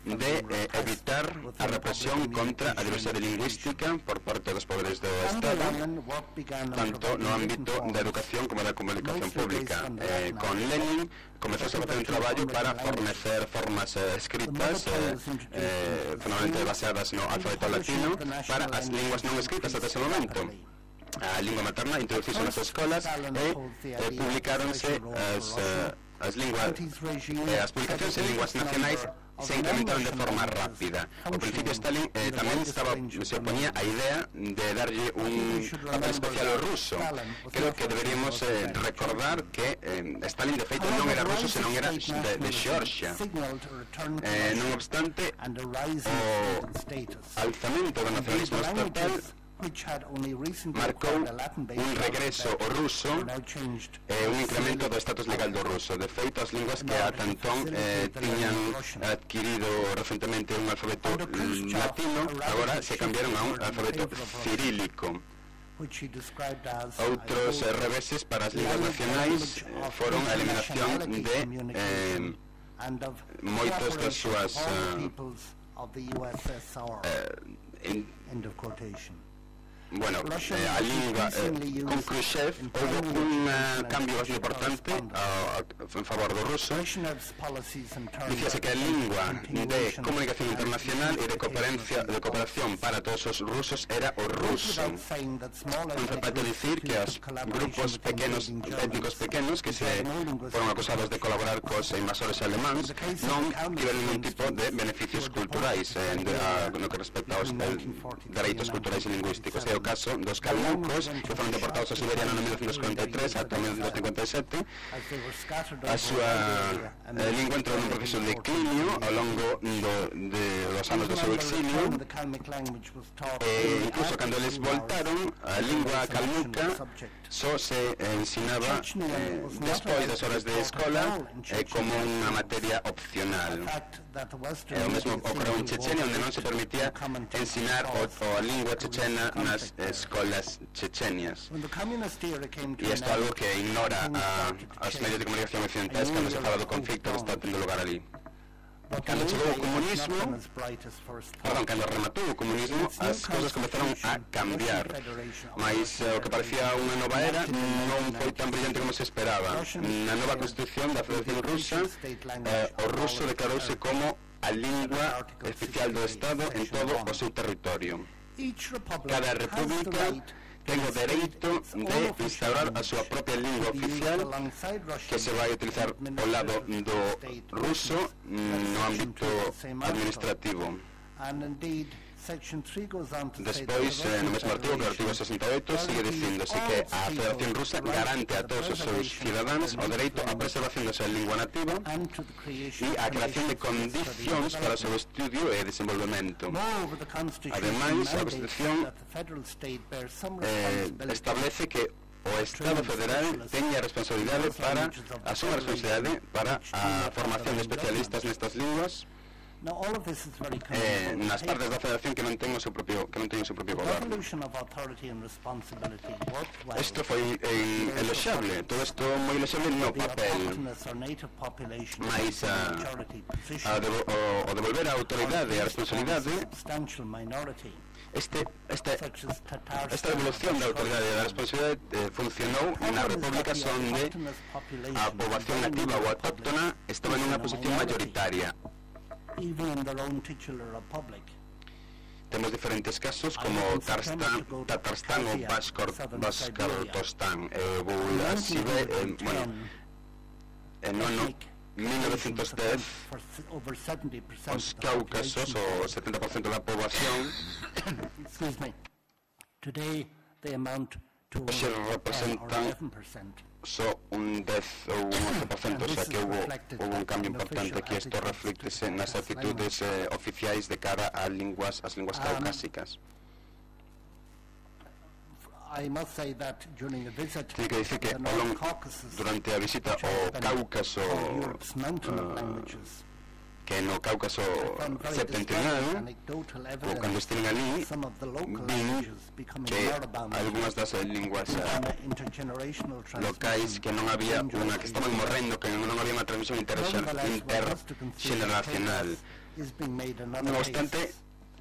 de eh, evitar a represión contra a diversidade lingüística por parte dos poderes do Estado, tanto no ámbito da educación como da comunicación pública. Eh, con Lenin comezouse a facer un traballo para fornecer formas eh, escritas, eh, eh, fundamentalmente baseadas no alfabeto latino, para as linguas non escritas ata ese momento. A lingua materna introduciuse nas escolas e eh, publicaronse as, uh, as linguas eh, as publicacións en linguas nacionais se incrementaron de forma rápida. Ao principio Stalin eh, tamén estaba, se oponía a idea de darlle un papel especial ao ruso. Creo que deberíamos eh, recordar que eh, Stalin de feito non era ruso, senón era de, de Xeorxia. Eh, non obstante, o alzamento do nacionalismo estatal marcou un regreso ao ruso e un incremento do estatus legal do ruso. De feito, as linguas que ata entón eh, tiñan adquirido recentemente un alfabeto latino agora se cambiaron a un alfabeto cirílico. Outros eh, reveses para as linguas nacionais eh, foron a eliminación de eh, moitos das súas eh, eh, Bueno, eh, a lingua, eh, con Khrushchev houve un uh, cambio bastante importante uh, en favor do ruso. Dicíase que a lingua de comunicación internacional e de cooperación, de cooperación para todos os rusos era o ruso. Non se pode dicir que os grupos pequenos, étnicos pequenos, que se foron acusados de colaborar cos invasores alemáns, non tiveron ningún tipo de beneficios culturais eh, de, a, no que respecta aos eh, dereitos culturais e lingüísticos. É o caso dos calmucos, que foron deportados a Siberia no mil novecentos cuarenta e tres ata mil novecentos cincuenta e sete. A súa eh, lingua entrou nun proceso de declinio ao longo do, de, dos anos do seu exilio, e incluso cando eles voltaron, a lingua calmuca só se eh, ensinaba eh, despois das horas de escola eh, como unha materia opcional. E o mesmo ocorreu en Chechenia, onde non se permitía ensinar o, o a lingua chechena nas escolas chechenias. E isto é algo que ignora a, as medios de comunicación occidentais cando se fala do conflicto que está tendo lugar ali. Cando chegou o comunismo, perdón, cando rematou o comunismo, as cousas comezaron a cambiar, mas eh, o que parecía unha nova era non foi tan brillante como se esperaba. Na nova Constitución da Federación Rusa, eh, o ruso declarouse como a lingua oficial do Estado en todo o seu territorio. Cada república ten o dereito de instaurar a súa propia lingua oficial que se vai utilizar ao lado do ruso no ámbito administrativo. Despois, eh, no mesmo artigo, que o artigo sesenta e oito, sigue dicíndose que a Federación Rusa garante a todos os seus cidadáns o dereito á preservación da súa lingua nativa e a creación de condicións para o seu estudio e desenvolvemento. Ademais, a Constitución eh, establece que o Estado Federal teña a responsabilidade para a súa responsabilidade para a formación de especialistas nestas linguas eh, nas partes da Federación que non ten o seu propio que non ten o seu propio goberno. Isto foi eh, eloxable, todo isto moi eloxable no papel, mas a, a devo, o, o devolver a autoridade e a responsabilidade Este, este, esta devolución da autoridade e da responsabilidade eh, funcionou nas repúblicas onde a poboación nativa ou autóctona estaba nunha posición mayoritaria. Temos diferentes casos como Tarstan, Tatarstán ou Baskortostán. Eu vou así ver, eh, bueno, en no ano mil novecentos dez os Cáucasos, o setenta por cento da poboación, Today they amount to Hoxe ten or representan eleven percent. só un dez ou un once por cento, o sea que hubo, hubo un cambio importante aquí. Isto reflectese nas actitudes eh, oficiais de cara a linguas, as linguas caucásicas. I must say that during a visit Tiene que dicir que to the ao North longo, Caucasus, durante a visita which ao has been Cáucaso, called Europe's mountain of uh, languages, que no Cáucaso found very septentrional, disturbing anecdotal ou cando evidence estiven ali, some of the local vin languages becoming que moribund algunhas das eh, linguas eh, on the intergenerational locais que non había unha, que estaban morrendo, que non había unha transmisión intergeneracional. is being made another Non case. obstante,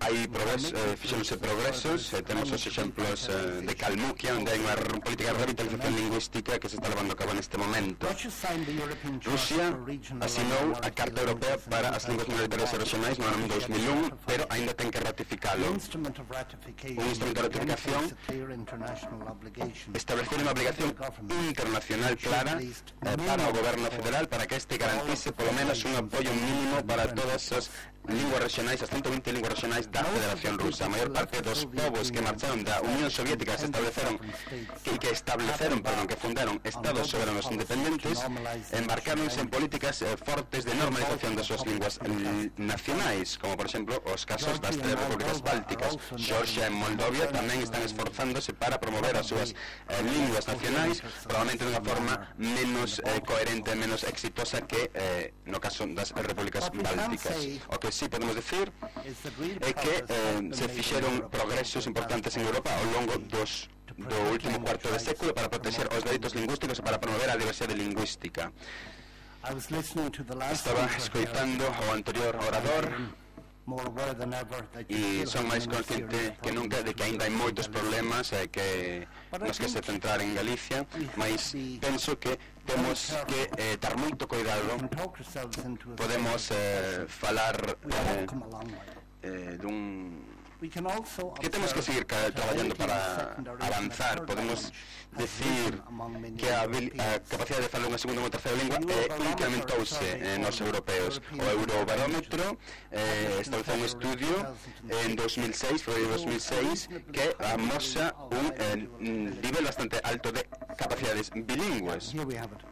hai progresos, eh, fixéronse progresos, eh, temos os exemplos eh, de Kalmukia, onde hai unha r- política de revitalización lingüística que se está levando a cabo neste momento. Russia signed the European Charter Rusia for Regional asinou and a Carta Europea Minority para as linguas minoritarias e regionais no ano dos mil un, pero aínda ten que The ratificalo. instrument of ratification Un instrumento de ratificación demonstrates a clear international obligation Establecer unha obligación internacional clara eh, para o goberno federal para que este garantice polo menos un apoio mínimo para todas as linguas regionais, as ciento vinte linguas regionais da Federación Rusa. A maior parte dos povos que marcharon da Unión Soviética se estabeleceron que, que estableceron, perdón, que fundaron estados soberanos independentes, embarcaronse en políticas eh, fortes de normalización das súas linguas eh, nacionais, como por exemplo os casos das tres repúblicas bálticas. Georgia e Moldovia tamén están esforzándose para promover as súas eh, linguas nacionais, probablemente de unha forma menos eh, coherente, menos exitosa que eh, no caso das repúblicas bálticas. O que sí podemos decir é que eh, se fixeron progresos importantes en Europa ao longo dos do último cuarto de século para proteger os dereitos lingüísticos e para promover a diversidade lingüística. I was listening to the last Estaba speaker here, escoitando ao anterior orador more aware than ever that you e still son have máis many consciente serious que nunca de que aínda hai moitos problemas eh, que nos que se centrar en Galicia, mas penso que temos que eh, dar moito cuidado. can talk ourselves into a Podemos eh, falar we have eh, come a long way. eh, dun We can also que temos que seguir ca- observe traballando that para secondary avanzar. and third Podemos language has decir risen among many que a, habil- a Europeans. capacidade de falar unha segunda ou unha terceira lingua eh, incrementouse eh, nos europeos. O Eurobarómetro eh, estableceu un estudio en dos mil seis, foi dos mil seis, que amosa un eh, nivel bastante alto de capacidades bilingües. Here we have it.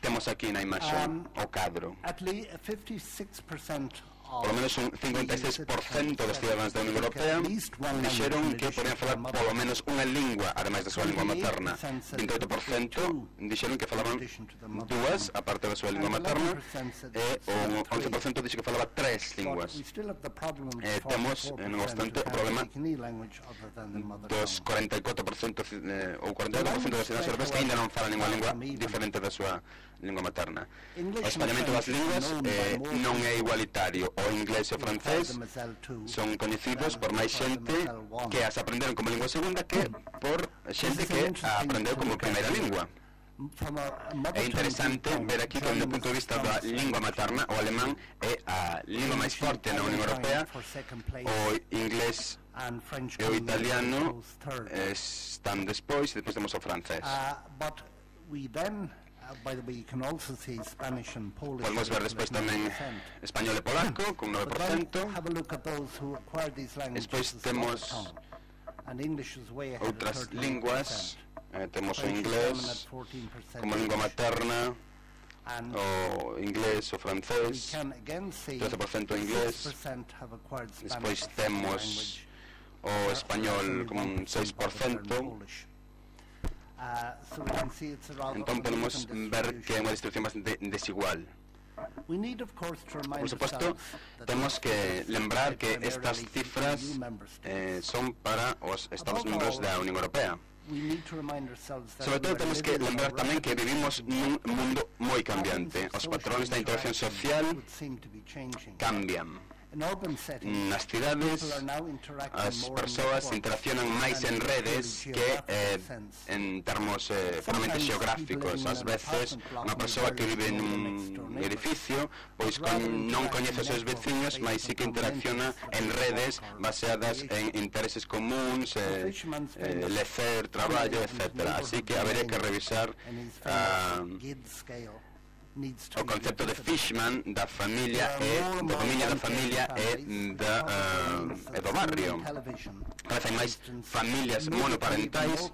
Temos aquí na imaxe Um, o cadro. At least fifty-six percent Por lo menos un cincuenta e seis por cento dos cidadáns da Unión Europea dixeron que podían falar polo menos unha lingua, ademais da súa lingua materna. vinte e oito por cento dixeron que falaban dúas, aparte da súa lingua materna, e o once por cento dixo que falaba tres linguas. Eh, temos, eh, non obstante, o problema dos cuarenta e catro por cento eh, ou cuarenta e catro por cento dos cidadáns europeos que ainda non falan ninguna lingua diferente da súa lingua materna. O espallamento das linguas eh, non é igualitario. O inglés e o francés son coñecidos por máis xente que as aprenderon como lingua segunda que por xente que a aprendeu como primeira lingua. É interesante ver aquí que, do punto de vista da lingua materna, o alemán é a lingua máis forte na Unión Europea, o inglés e o italiano eh, están despois, e despois temos o francés. Podemos ver despois tamén español e polaco, con nove por cento. Despois temos outras linguas, eh, temos o inglés como lingua materna, o inglés, o francés, trece por cento inglés. Despois temos o español como un seis por cento. Entón podemos ver que é unha distribución bastante desigual. Por suposto, temos que lembrar que estas cifras eh, son para os Estados membros da Unión Europea. Sobre todo temos que lembrar tamén que vivimos nun mundo moi cambiante. Os patrones da interacción social cambian. Nas cidades as persoas interaccionan máis en redes que eh, en termos eh, puramente xeográficos. Ás veces unha persoa que vive nun edificio pois con, non coñece os seus veciños, mas sí que interacciona en redes baseadas en intereses comuns, eh, eh, lecer, traballo, etcétera. Así que habería que revisar uh, needs to o be concepto de revisited. Fishman da familia e da familia da familia e da uh, e do barrio. Cada vez hai máis familias monoparentais,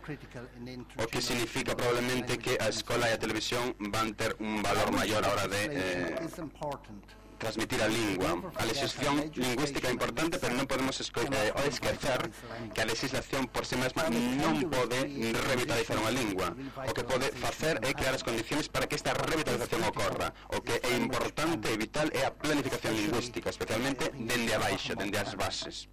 o que significa probablemente que a escola e a televisión van ter un valor maior a hora de eh, transmitir a lingua. A legislación lingüística é importante, pero non podemos esco eh, esquecer que a legislación por si mesma non pode revitalizar unha lingua. O que pode facer é crear as condicións para que esta revitalización ocorra. O que é importante e vital é a planificación lingüística, especialmente dende abaixo, dende as bases.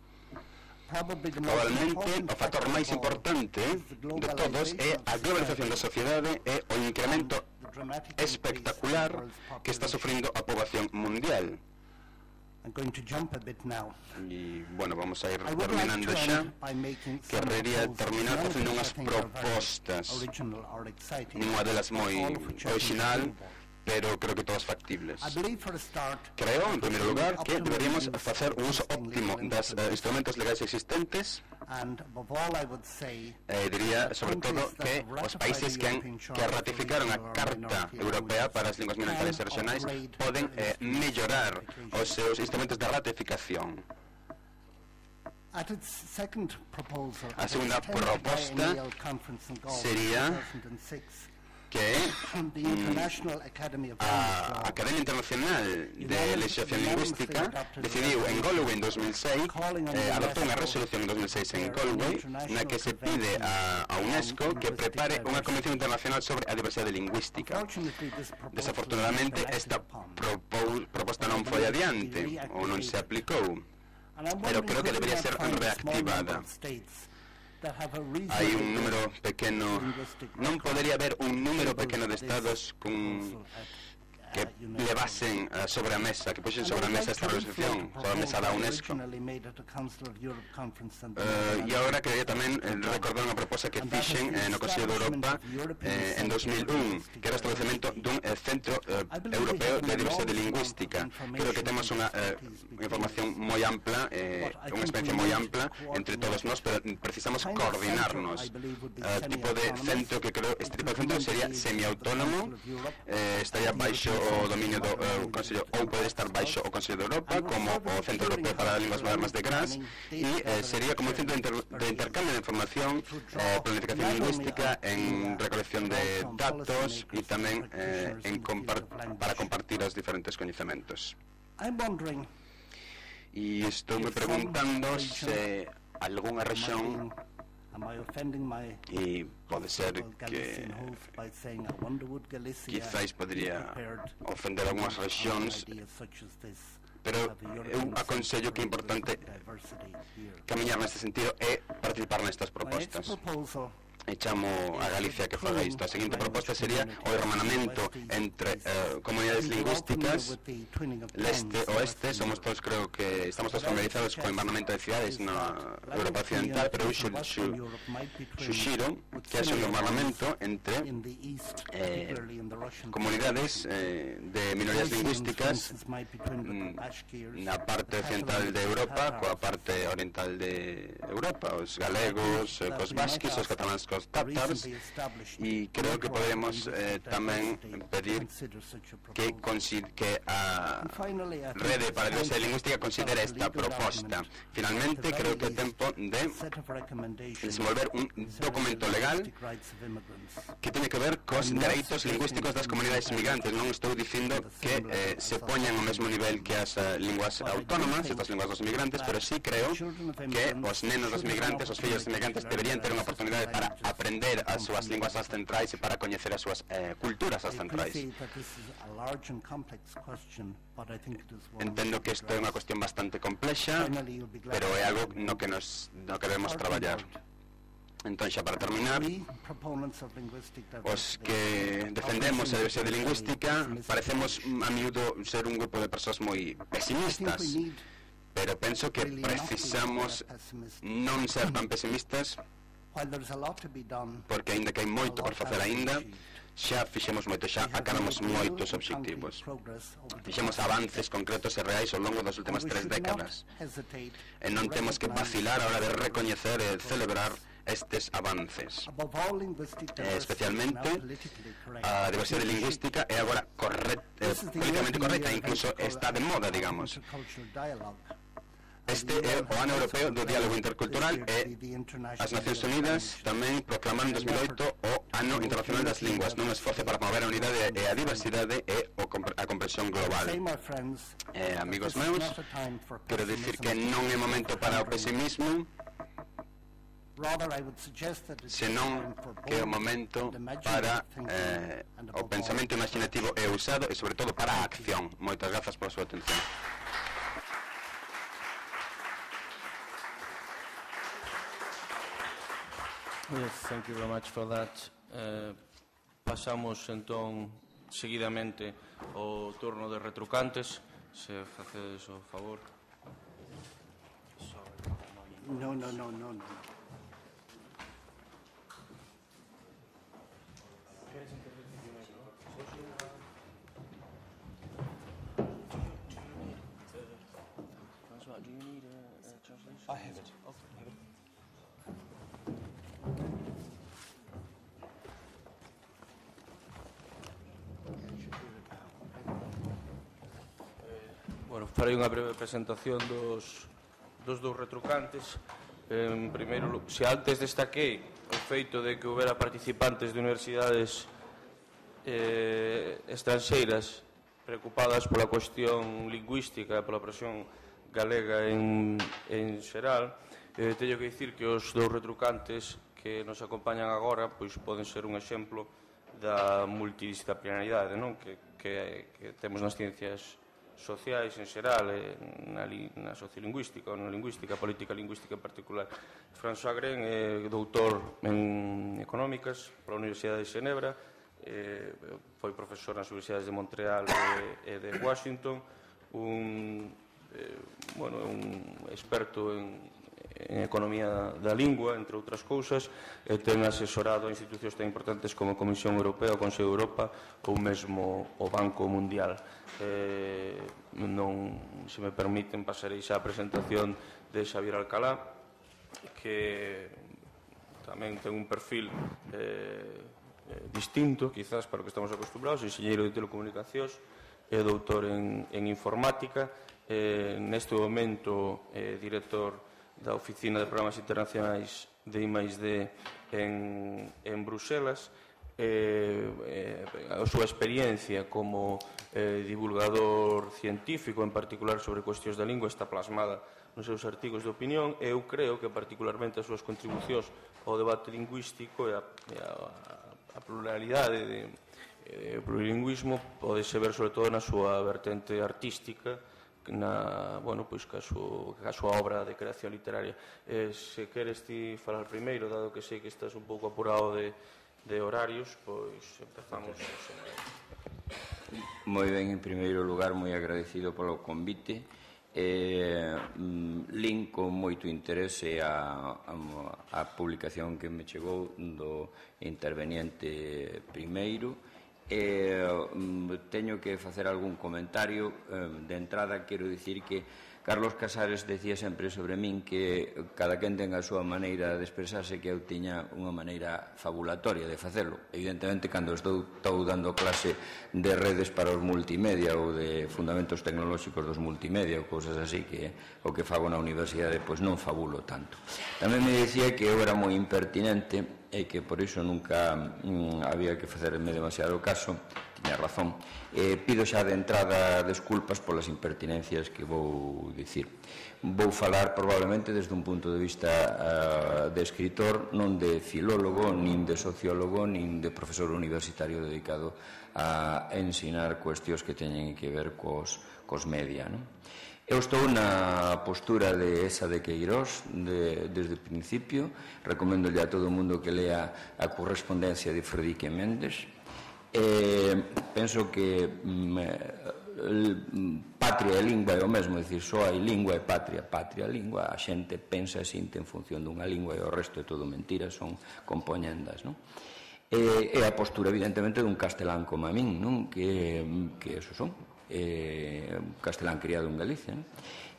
Probablemente o factor máis importante de todos é a globalización da sociedade e o incremento espectacular que está sufrindo a poboación mundial. E, bueno, vamos a ir terminando xa. Querrería terminar facendo unhas propostas, nunha delas moi original, pero creo que todas factibles. Creo, en primeiro lugar, que deberíamos facer un uso óptimo dos uh, instrumentos legais existentes. Eh, diría, sobre todo, que os países que, han, que ratificaron a Carta Europea para as linguas minoritarias e regionais poden eh, mellorar os seus instrumentos de ratificación. A segunda proposta sería que mm, a Academia Internacional de Legislación Lingüística decidiu en Galway en dos mil seis, eh, adoptou unha resolución en dos mil seis en Galway, na que se pide a, a UNESCO que prepare unha Convención Internacional sobre a Diversidade Lingüística. Desafortunadamente, esta propo, proposta non foi adiante, ou non se aplicou, pero creo que debería ser reactivada. Hai un número pequeno, non podería haber un número pequeno de estados con que levasen uh, sobre a mesa, que puxen sobre a mesa esta resolución, sobre a mesa da UNESCO. Uh, e agora quería tamén eh, recordar unha proposta que fixen eh, no Consello de Europa eh, en dos mil un, que era o establecemento dun eh, Centro eh, Europeo de Diversidade Lingüística. Creo que temos unha eh, información moi ampla, eh, unha experiencia moi ampla entre todos nós, pero precisamos coordinarnos. Uh, tipo de centro que creo, este tipo de centro sería semiautónomo, eh, estaría baixo o dominio do uh, Consello, ou poder estar baixo o Consello de Europa, como o Centro Europeo para as Linguas Modernas de Graz, e eh, sería como un centro de, inter de intercambio de información, eh, planificación lingüística, en recolección de datos e tamén eh, en compar para compartir os diferentes coñecementos. E estou me preguntando se algunha rexión, e pode ser que quizás podría ofender algunhas rexións, pero eu aconsello que é importante camiñar neste sentido e participar nestas propostas. E chamo a Galicia que faga isto. A seguinte proposta sería o hermanamento entre uh, comunidades lingüísticas leste e oeste. Somos todos, creo que estamos todos familiarizados co hermanamento de cidades na Europa Occidental, pero eu suxiro que haxe un hermanamento entre eh, comunidades eh, de minorías lingüísticas na parte occidental de Europa coa parte oriental de Europa, os galegos, os vasquis, os cataláns, os tártaros, e creo que podemos eh, tamén pedir que, que a Rede para a Diversidade Lingüística considere esta proposta. Finalmente, creo que é tempo de desenvolver un documento legal que tiene que ver cos dereitos lingüísticos das comunidades migrantes. Non estou dicindo que eh, se poñan ao mesmo nivel que as uh, linguas autónomas, estas linguas dos migrantes, pero sí creo que os nenos dos migrantes, os fillos dos migrantes, deberían ter unha oportunidade para aprender as súas linguas ancestrais e para coñecer as súas eh, culturas ancestrais. Entendo que isto é unha cuestión bastante complexa, pero é algo no que nos no que debemos traballar. Entón, xa para terminar, os que defendemos a diversidade lingüística parecemos a miúdo ser un grupo de persoas moi pesimistas, pero penso que precisamos non ser tan pesimistas, porque aínda que hai moito por facer aínda, xa fixemos moito, xa acabamos moitos obxectivos. Fixemos avances concretos e reais ao longo das últimas tres décadas. E non temos que vacilar a hora de recoñecer e celebrar estes avances. Above all, linguistic Eh, diversity is now especialmente politically correct. a diversidade lingüística é agora correcta, eh, This is the políticamente European correcta, Year of incluso está de moda, digamos. Intercultural Dialogue. Este é o ano europeo do diálogo intercultural e as Nacións Unidas tamén proclamaron en dos mil oito o ano internacional das linguas nun esforzo para promover a unidade e a diversidade e a comprensión global. Eh, amigos meus, quero dicir que non é momento para o pesimismo, senón que é o momento para eh, o pensamento imaginativo e usado e sobre todo para a acción. Moitas grazas pola súa atención. Yes, thank you very much for that. Eh, pasamos entón seguidamente ao turno de retrucantes, se facedes o favor. No, no, no, no, no. I have it. Bueno, farei unha breve presentación dos, dos dous retrucantes. En primeiro, se antes destaquei o feito de que houbera participantes de universidades eh, estranxeiras preocupadas pola cuestión lingüística e pola presión galega en, en xeral, eh, teño que dicir que os dous retrucantes que nos acompañan agora pois poden ser un exemplo da multidisciplinaridade, non? Que, que, que temos nas ciencias sociais en xeral, na, na sociolingüística ou na lingüística, política lingüística en particular. François Gren é doutor en económicas pola Universidade de Xenebra, eh, foi profesor nas universidades de Montreal e, e de Washington, un, eh, bueno, un experto en, en economía da lingua, entre outras cousas, e ten asesorado a institucións tan importantes como a Comisión Europea, o Consello de Europa ou mesmo o Banco Mundial. Eh, non, se me permiten, pasarei xa a presentación de Xavier Alcalá, que tamén ten un perfil eh, eh, distinto, quizás, para o que estamos acostumbrados, enxeñeiro de telecomunicacións, é doutor en, en informática, eh, neste momento é eh, director da Oficina de Programas Internacionais de I máis D en, en Bruselas. Eh, eh, a súa experiencia como eh, divulgador científico, en particular sobre cuestións da lingua, está plasmada nos seus artigos de opinión, e eu creo que particularmente as súas contribucións ao debate lingüístico e a, e a, a pluralidade de, de plurilingüismo podese ver sobre todo na súa vertente artística, na, bueno, pois, ca súa, ca súa obra de creación literaria. Eh, se queres ti falar primeiro, dado que sei que estás un pouco apurado de de horarios, pois empezamos. Moi ben, en primeiro lugar, moi agradecido polo convite. Eh, lin con moito interese a, a, a publicación que me chegou do interveniente primeiro. Eh, teño que facer algún comentario. Eh, de entrada, quero dicir que Carlos Casares decía sempre sobre min que cada quen ten a súa maneira de expresarse, que eu tiña unha maneira fabulatoria de facelo. Evidentemente, cando estou, estou dando clase de redes para os multimedia ou de fundamentos tecnolóxicos dos multimedia ou cousas así, que o que fago na universidade, pois non fabulo tanto. Tamén me dicía que eu era moi impertinente e que por iso nunca mm, había que facerme demasiado caso. Tiña razón. Eh, pido xa de entrada desculpas polas impertinencias que vou dicir. Vou falar probablemente desde un punto de vista uh, de escritor, non de filólogo, nin de sociólogo, nin de profesor universitario dedicado a ensinar cuestións que teñen que ver cos, cos media, non? Eu estou na postura de esa de Queirós de, desde o principio. Recomendo a todo o mundo que lea a correspondencia de Frederique Mendes. Eh, penso que mm, patria e lingua é o mesmo, é dicir, só hai lingua e patria. Patria e lingua, a xente pensa e sinte en función dunha lingua e o resto é todo mentira, son compoñendas, non? E, e a postura, evidentemente, dun castelán como a min, non? Que, que eso son, eh, castelán criado en Galicia, non?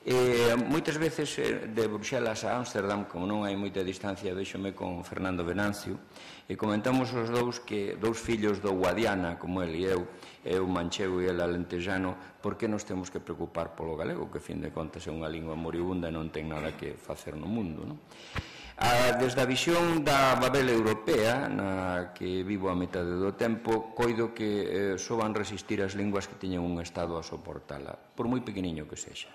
Eh, moitas veces eh, de Bruxelas a Ámsterdam, como non hai moita distancia, véxome con Fernando Venancio e comentamos os dous que dous fillos do Guadiana, como el e eu, eu manchego e el alentejano, por que nos temos que preocupar polo galego, que, a fin de contas, é unha lingua moribunda e non ten nada que facer no mundo, non? A, desde a visión da Babel europea, na que vivo a metade do tempo, coido que eh, só van resistir as linguas que teñen un Estado a soportala, por moi pequeniño que sexa.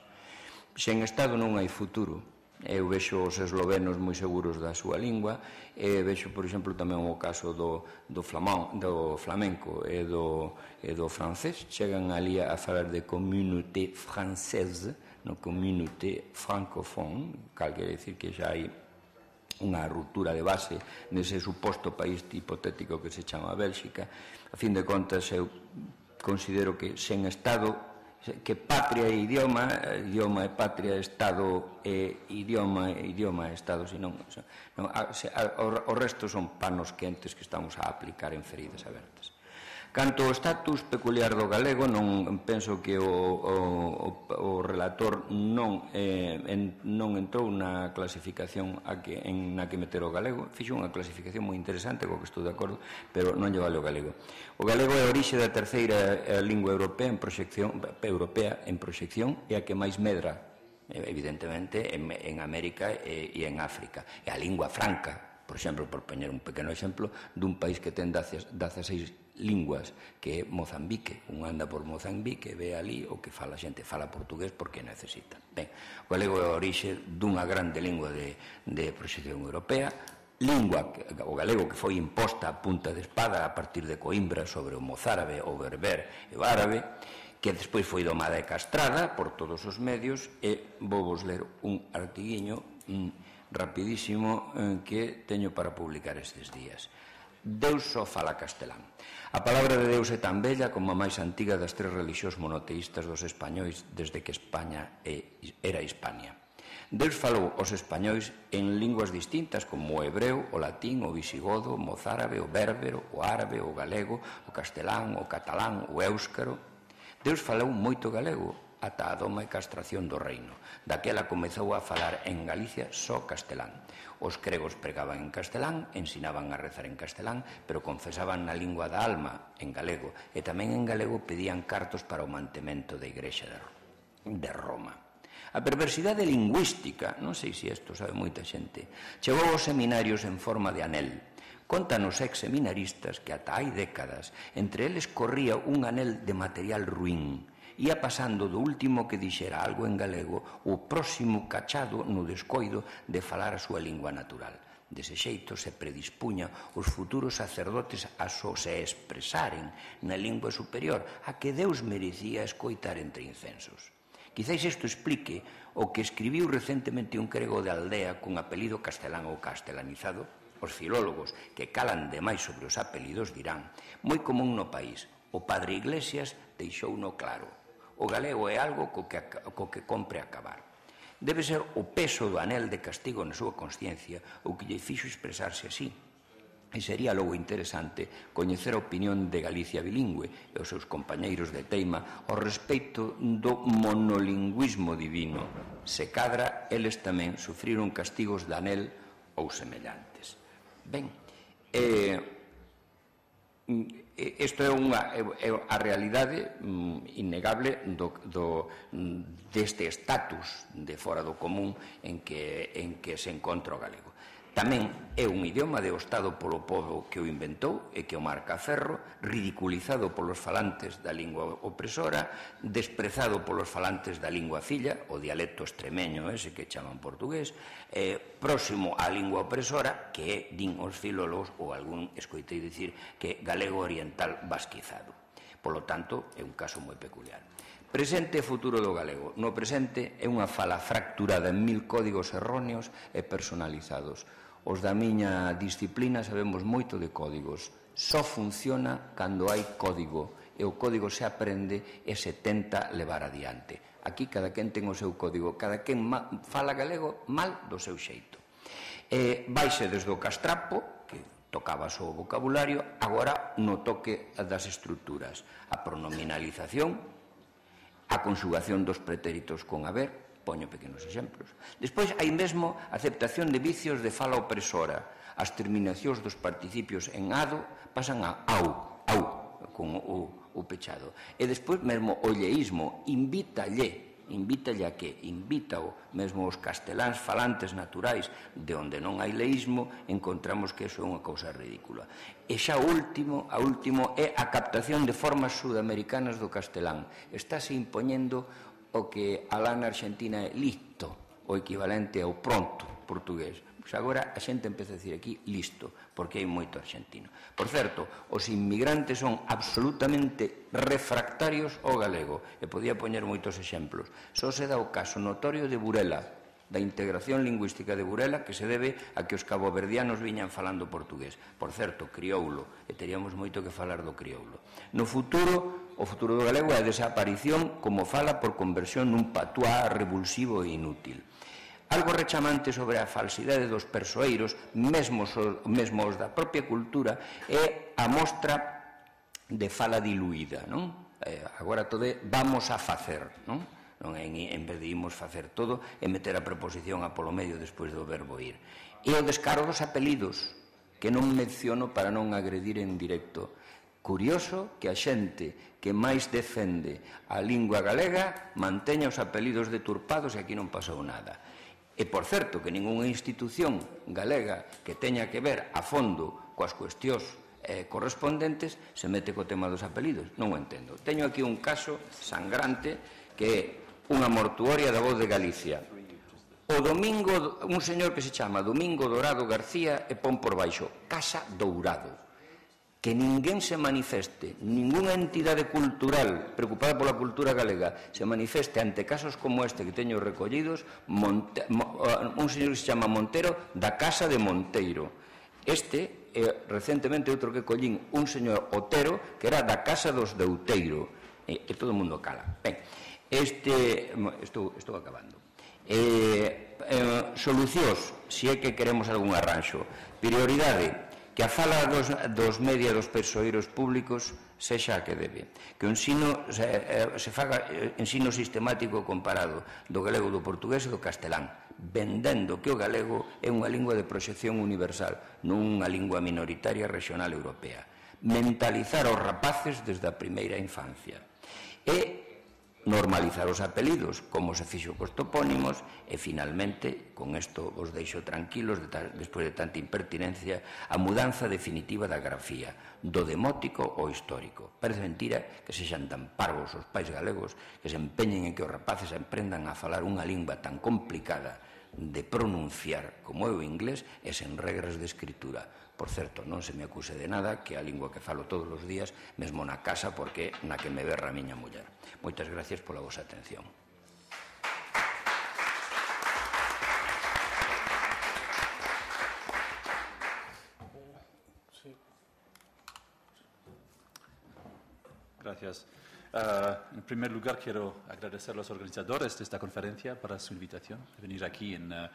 Sen Estado non hai futuro. Eu vexo os eslovenos moi seguros da súa lingua, e vexo, por exemplo, tamén o caso do, do, flamán, do flamenco e do, e do francés. Chegan ali a falar de communauté française, no communauté francophone, cal quere dicir que xa hai unha ruptura de base nese suposto país hipotético que se chama Bélxica. A fin de contas, eu considero que sen Estado, que patria e idioma, idioma e patria, Estado e idioma, idioma e Estado, senón, non, o resto son panos quentes que estamos a aplicar en feridas abertas. Canto ao status peculiar do galego, non penso que o, o, o relator non, eh, en, non entrou na clasificación a que, en na que meter o galego. Fixo unha clasificación moi interesante, co que estou de acordo, pero non lle vale o galego. O galego é a orixe da terceira lingua europea en proxección, europea en proxección, e a que máis medra, evidentemente, en, en América e, e en África. É a lingua franca, por exemplo, por poñer un pequeno exemplo, dun país que ten dezaseis linguas, que é Mozambique. Un anda por Mozambique e ve ali o que fala a xente, fala portugués porque necesita. Ben, o galego é a orixe dunha grande lingua de, de proxección europea, lingua, o galego, que foi imposta a punta de espada a partir de Coimbra sobre o mozárabe, o berber e o árabe, que despois foi domada e castrada por todos os medios, e vou vos ler un artiguiño mm, rapidísimo eh, que teño para publicar estes días. Deus só fala castelán. A palabra de Deus é tan bella como a máis antiga das tres relixións monoteístas dos españois desde que España era Hispania. Deus falou aos españois en linguas distintas como o hebreo, o latín, o visigodo, o mozárabe, o bérbero, o árabe, o galego, o castelán, o catalán, o éuscaro. Deus falou moito galego ata a doma e castración do reino. Daquela comezou a falar en Galicia só castelán. Os gregos pregaban en castelán, ensinaban a rezar en castelán, pero confesaban na lingua da alma, en galego, e tamén en galego pedían cartos para o mantemento da Igrexa de Roma. A perversidade lingüística, non sei se isto sabe moita xente, chegou aos seminarios en forma de anel. Contanos ex-seminaristas que ata hai décadas entre eles corría un anel de material ruín, ia pasando do último que dixera algo en galego o próximo cachado no descoido de falar a súa lingua natural. Dese xeito se predispuña os futuros sacerdotes a só se expresaren na lingua superior, a que Deus merecía escoitar entre incensos. Quizáis isto explique o que escribiu recentemente un grego de aldea cun apelido castelán ou castelanizado. Os filólogos que calan demais sobre os apelidos dirán, moi común no país, o padre Iglesias deixouno claro. O galego é algo co que, co que compre acabar. Debe ser o peso do anel de castigo na súa consciencia o que lle fixo expresarse así. E sería logo interesante coñecer a opinión de Galicia bilingüe e os seus compañeiros de teima ao respecto do monolingüismo divino. Se cadra, eles tamén sufriron castigos de anel ou semellantes. Ben, eh... isto é unha é a realidade innegable do, do, deste estatus de fora do común en que, en que se encontra o galego. Tamén é un idioma deostado polo pobo que o inventou e que o marca a ferro, ridiculizado polos falantes da lingua opresora, desprezado polos falantes da lingua filla, o dialecto extremeño ese que chaman portugués, eh, próximo á lingua opresora, que é, din os filólogos, ou algún escoitei dicir, que galego oriental basquizado. Polo tanto, é un caso moi peculiar. Presente e futuro do galego. No presente é unha fala fracturada en mil códigos erróneos e personalizados. Os da miña disciplina sabemos moito de códigos. Só funciona cando hai código e o código se aprende e se tenta levar adiante. Aquí cada quen ten o seu código, cada quen fala galego mal do seu xeito. E vaise desde o castrapo, que tocaba só o vocabulario, agora no toque das estruturas. A pronominalización, a conxugación dos pretéritos con haber, Poño pequenos exemplos. Despois, hai mesmo aceptación de vicios de fala opresora. As terminacións dos participios en ado pasan a au, au, con o, o pechado. E despois, mesmo o lleísmo, invítalle, invítalle a que, invítao, mesmo os casteláns falantes naturais, de onde non hai leísmo, encontramos que iso é unha cousa ridícula. E xa o último, a último é a captación de formas sudamericanas do castelán. Estáse impoñendo o que alá na Argentina é listo, o equivalente ao pronto portugués. Pois agora a xente empeza a dicir aquí listo, porque hai moito argentino. Por certo, os inmigrantes son absolutamente refractarios ao galego, e podía poñer moitos exemplos. Só se dá o caso notorio de Burela, da integración lingüística de Burela, que se debe a que os caboverdianos viñan falando portugués. Por certo, crioulo, e teríamos moito que falar do crioulo. No futuro, o futuro do galego é a desaparición como fala por conversión nun patuá revulsivo e inútil. Algo rechamante sobre a falsidade dos persoeiros, mesmo os da propia cultura, é a mostra de fala diluída, non? Agora todo é vamos a facer, non? En vez de imos facer todo e meter a preposición a polo medio despois do verbo ir. E o descaro dos apelidos, que non menciono para non agredir en directo. Curioso que a xente que máis defende a lingua galega manteña os apelidos deturpados e aquí non pasou nada. E, por certo, que ningunha institución galega que teña que ver a fondo coas cuestións eh, correspondentes se mete co tema dos apelidos. Non o entendo. Teño aquí un caso sangrante que é unha mortuoria da Voz de Galicia. O domingo, un señor que se chama Domingo Dorado García e pon por baixo Casa Dourado. Que ninguén se manifeste, ningunha entidade cultural preocupada pola cultura galega se manifeste ante casos como este que teño recollidos, Monte, un señor que se chama Montero da Casa de Monteiro. Este, eh, recentemente outro que collín, un señor Otero que era da Casa dos de Outeiro, e, e todo o mundo cala. Ben, este, estou, estou acabando. Eh, eh, solucións, se é que queremos algún arranxo. Prioridade, que a fala dos, dos media dos persoeiros públicos sexa a que debe, que o ensino se, se faga ensino sistemático comparado do galego, do portugués e do castelán, vendendo que o galego é unha lingua de proxección universal, non unha lingua minoritaria regional europea. Mentalizar aos rapaces desde a primeira infancia e normalizar os apelidos, como se fixo cos topónimos, e, finalmente, con isto os deixo tranquilos, de ta, despois de tanta impertinencia, a mudanza definitiva da grafía, do demótico ao histórico. Parece mentira que sexan tan parvos os pais galegos que se empeñen en que os rapaces aprendan a falar unha lingua tan complicada de pronunciar como é o inglés e sen regras de escritura. Por certo, non se me acuse de nada, que é a lingua que falo todos os días, mesmo na casa, porque na que me berra a miña muller. Moitas gracias pola vosa atención. Gracias. Uh, en primer lugar, quiero agradecer a los organizadores de esta conferencia por su invitación a venir aquí en, uh,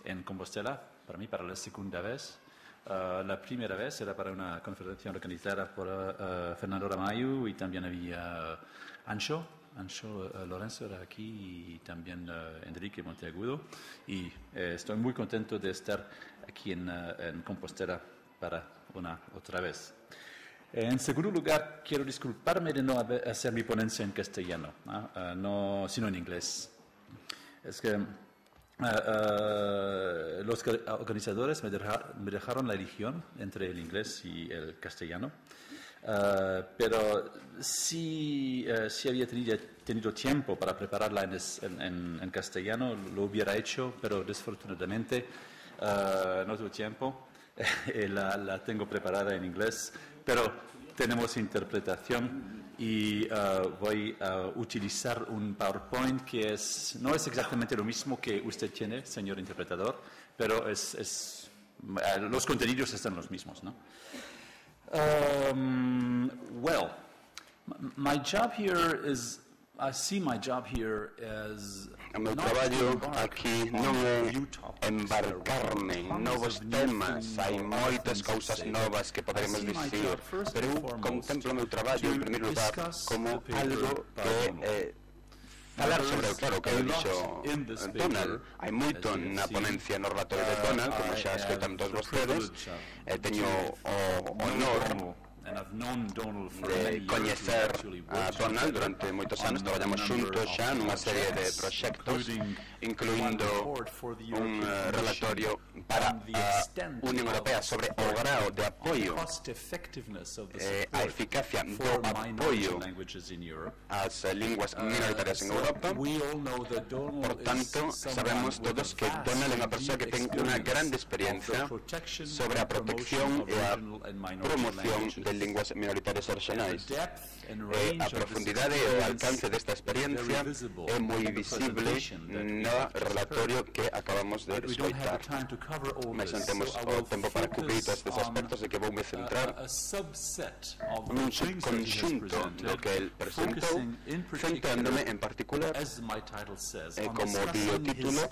en Compostela, para mí, para la segunda vez. Uh, la primera vez era para una conferencia organizada por uh, Fernando Ramallo y también había uh, Ancho, Ancho uh, Lorenzo era aquí y también uh, Enrique Monteagudo. Y eh, estoy muy contento de estar aquí en, uh, en Compostela para una otra vez. En segundo lugar, quiero disculparme de no hacer mi ponencia en castellano, ¿no? Uh, no, sino en inglés. Es que uh, uh, los organizadores me, deja, me dejaron la elección entre el inglés y el castellano, uh, pero si, uh, si había tenido, tenido tiempo para prepararla en, en, en castellano, lo hubiera hecho, pero desfortunadamente uh, no tuve tiempo. la, la tengo preparada en inglés, pero tenemos interpretación y uh, voy a utilizar un PowerPoint que es, no es exactamente lo mismo que usted tiene, señor interpretador, pero es, es, uh, los contenidos están los mismos, ¿no? Um, well, my job here is, I see my job here as o meu traballo aquí non é embarcarme en novos temas, hai moitas cousas novas que poderemos dicir, pero eu contemplo o meu traballo en primeiro lugar como algo que eh, falar sobre, claro, o que dixo Donald. Hai moito na ponencia no relatorio de Donald, como xa escoitan todos vostedes. Eh, teño o honor de coñecer a Donald durante moitos anos. Traballamos xuntos xa nunha serie de proxectos, incluindo un uh, relatorio para a Unión Europea sobre o grao de apoio eh, a eficacia do apoio ás linguas minoritarias en Europa. Por tanto, sabemos todos que Donald é unha persoa que ten unha grande experiencia sobre a protección e a promoción de linguas minoritarias e regionais. E a profundidade e o alcance desta experiencia é moi visible no relatorio que acabamos de escoitar. Mas non temos o tempo para cubrir todos estes aspectos, e que voume centrar nun subconxunto do que el presentou, centrándome en particular, eh, como di o título,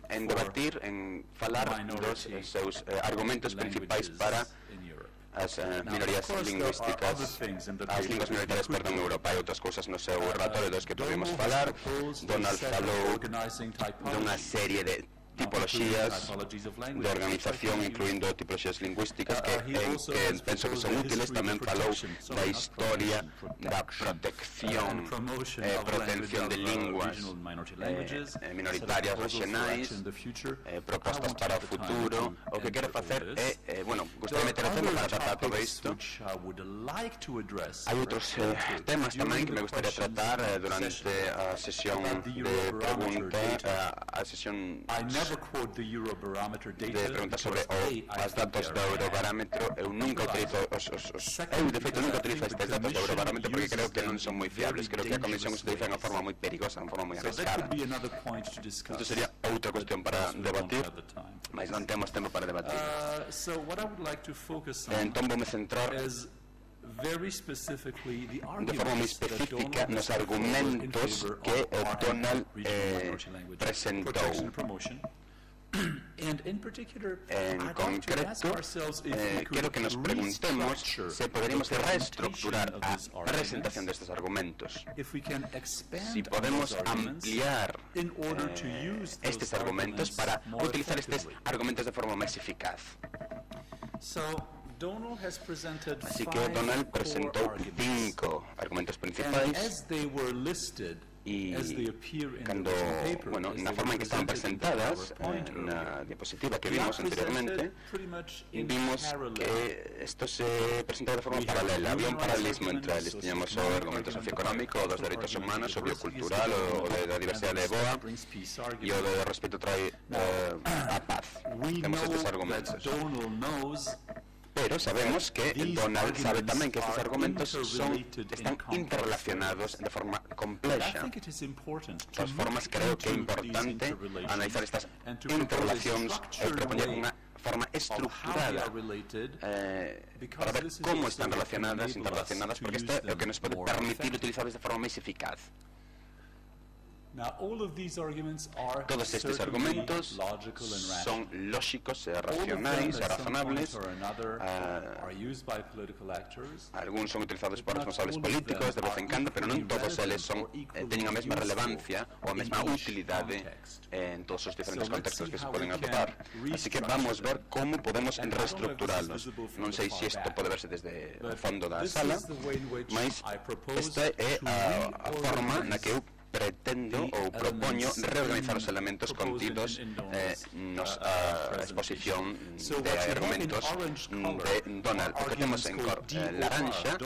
en debatir, en falar dos seus eh, argumentos principais para as uh, minorías lingüísticas, as linguas minoritarias, perdón, en Europa. Hai outras cousas no seu relatorio dos que podemos falar. Donald falou dunha serie de tipoloxías de organización, incluindo tipoloxías lingüísticas que, en, que penso que son útiles. Tamén falou da historia da protección e eh, protección de linguas eh, minoritarias regionais, eh, propostas para o futuro. O que quero facer é, eh, bueno, gostei de meter o tema para tratar todo isto. Hai outros eh, temas tamén que me gustaría tratar eh, durante a sesión de pregunta, a, a sesión de preguntas sobre os datos do Eurobarómetro. Eu nunca utilizo os, os, os eu de feito nunca utilizo estes datos do Eurobarómetro porque creo que non son moi fiables. Creo que a Comisión os utiliza de unha forma moi perigosa, de unha forma moi arriscada. Isto sería outra cuestión para debatir, mas non temos tempo para debatir. Entón voume centrar de forma moi específica nos argumentos que o Donald eh, presentou. En concreto, eh, quero que nos preguntemos se poderíamos reestructurar a presentación destes argumentos, si podemos ampliar eh, estes argumentos para utilizar estes argumentos de forma máis eficaz. Así que Donald presentou cinco argumentos principais e cando, bueno, na forma en que estaban presentadas eh, na diapositiva que vimos anteriormente, vimos que isto se presentaba de forma paralela. Había un paralelismo entre eles. Tiñamos o argumento socioeconómico, o dos dereitos humanos, o biocultural, o de la diversidade de boa, e o do respeto trae eh, a paz. Temos estes argumentos. Pero sabemos que Donald sabe tamén que estes argumentos son, están interrelacionados de forma complexa. De todas formas, creo que é importante analizar estas interrelacións e propoñer unha forma estructurada eh, para ver como están relacionadas, interrelacionadas, porque isto é o que nos pode permitir utilizarlas de forma máis eficaz. Todos estes argumentos son lógicos e racionais e razonables. Uh, Algúns son utilizados por responsables políticos de vez en cando, pero non todos eles son, eh, teñen a mesma relevancia ou a mesma utilidade eh, en todos os diferentes contextos que se poden atopar. Así que vamos ver como podemos reestructurarlos. Non sei se isto pode verse desde o fondo da sala, mas esta é a, a forma na que eu pretendo ou propoño reorganizar os elementos contidos eh, nos a exposición de argumentos de Donald. O que temos en cor eh, laranxa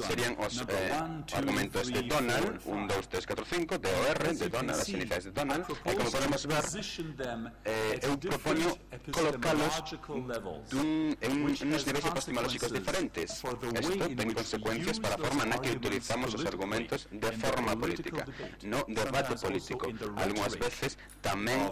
serían os eh, argumentos de Donald, un, dous, tres, catro, cinco, de O R, de Donald, as iniciais de Donald, e como podemos ver, eh, eu propoño colocalos dun, en uns niveis epistemológicos diferentes. Isto ten consecuencias para a forma na que utilizamos os argumentos de forma política, no debate político. Algúnas veces tamén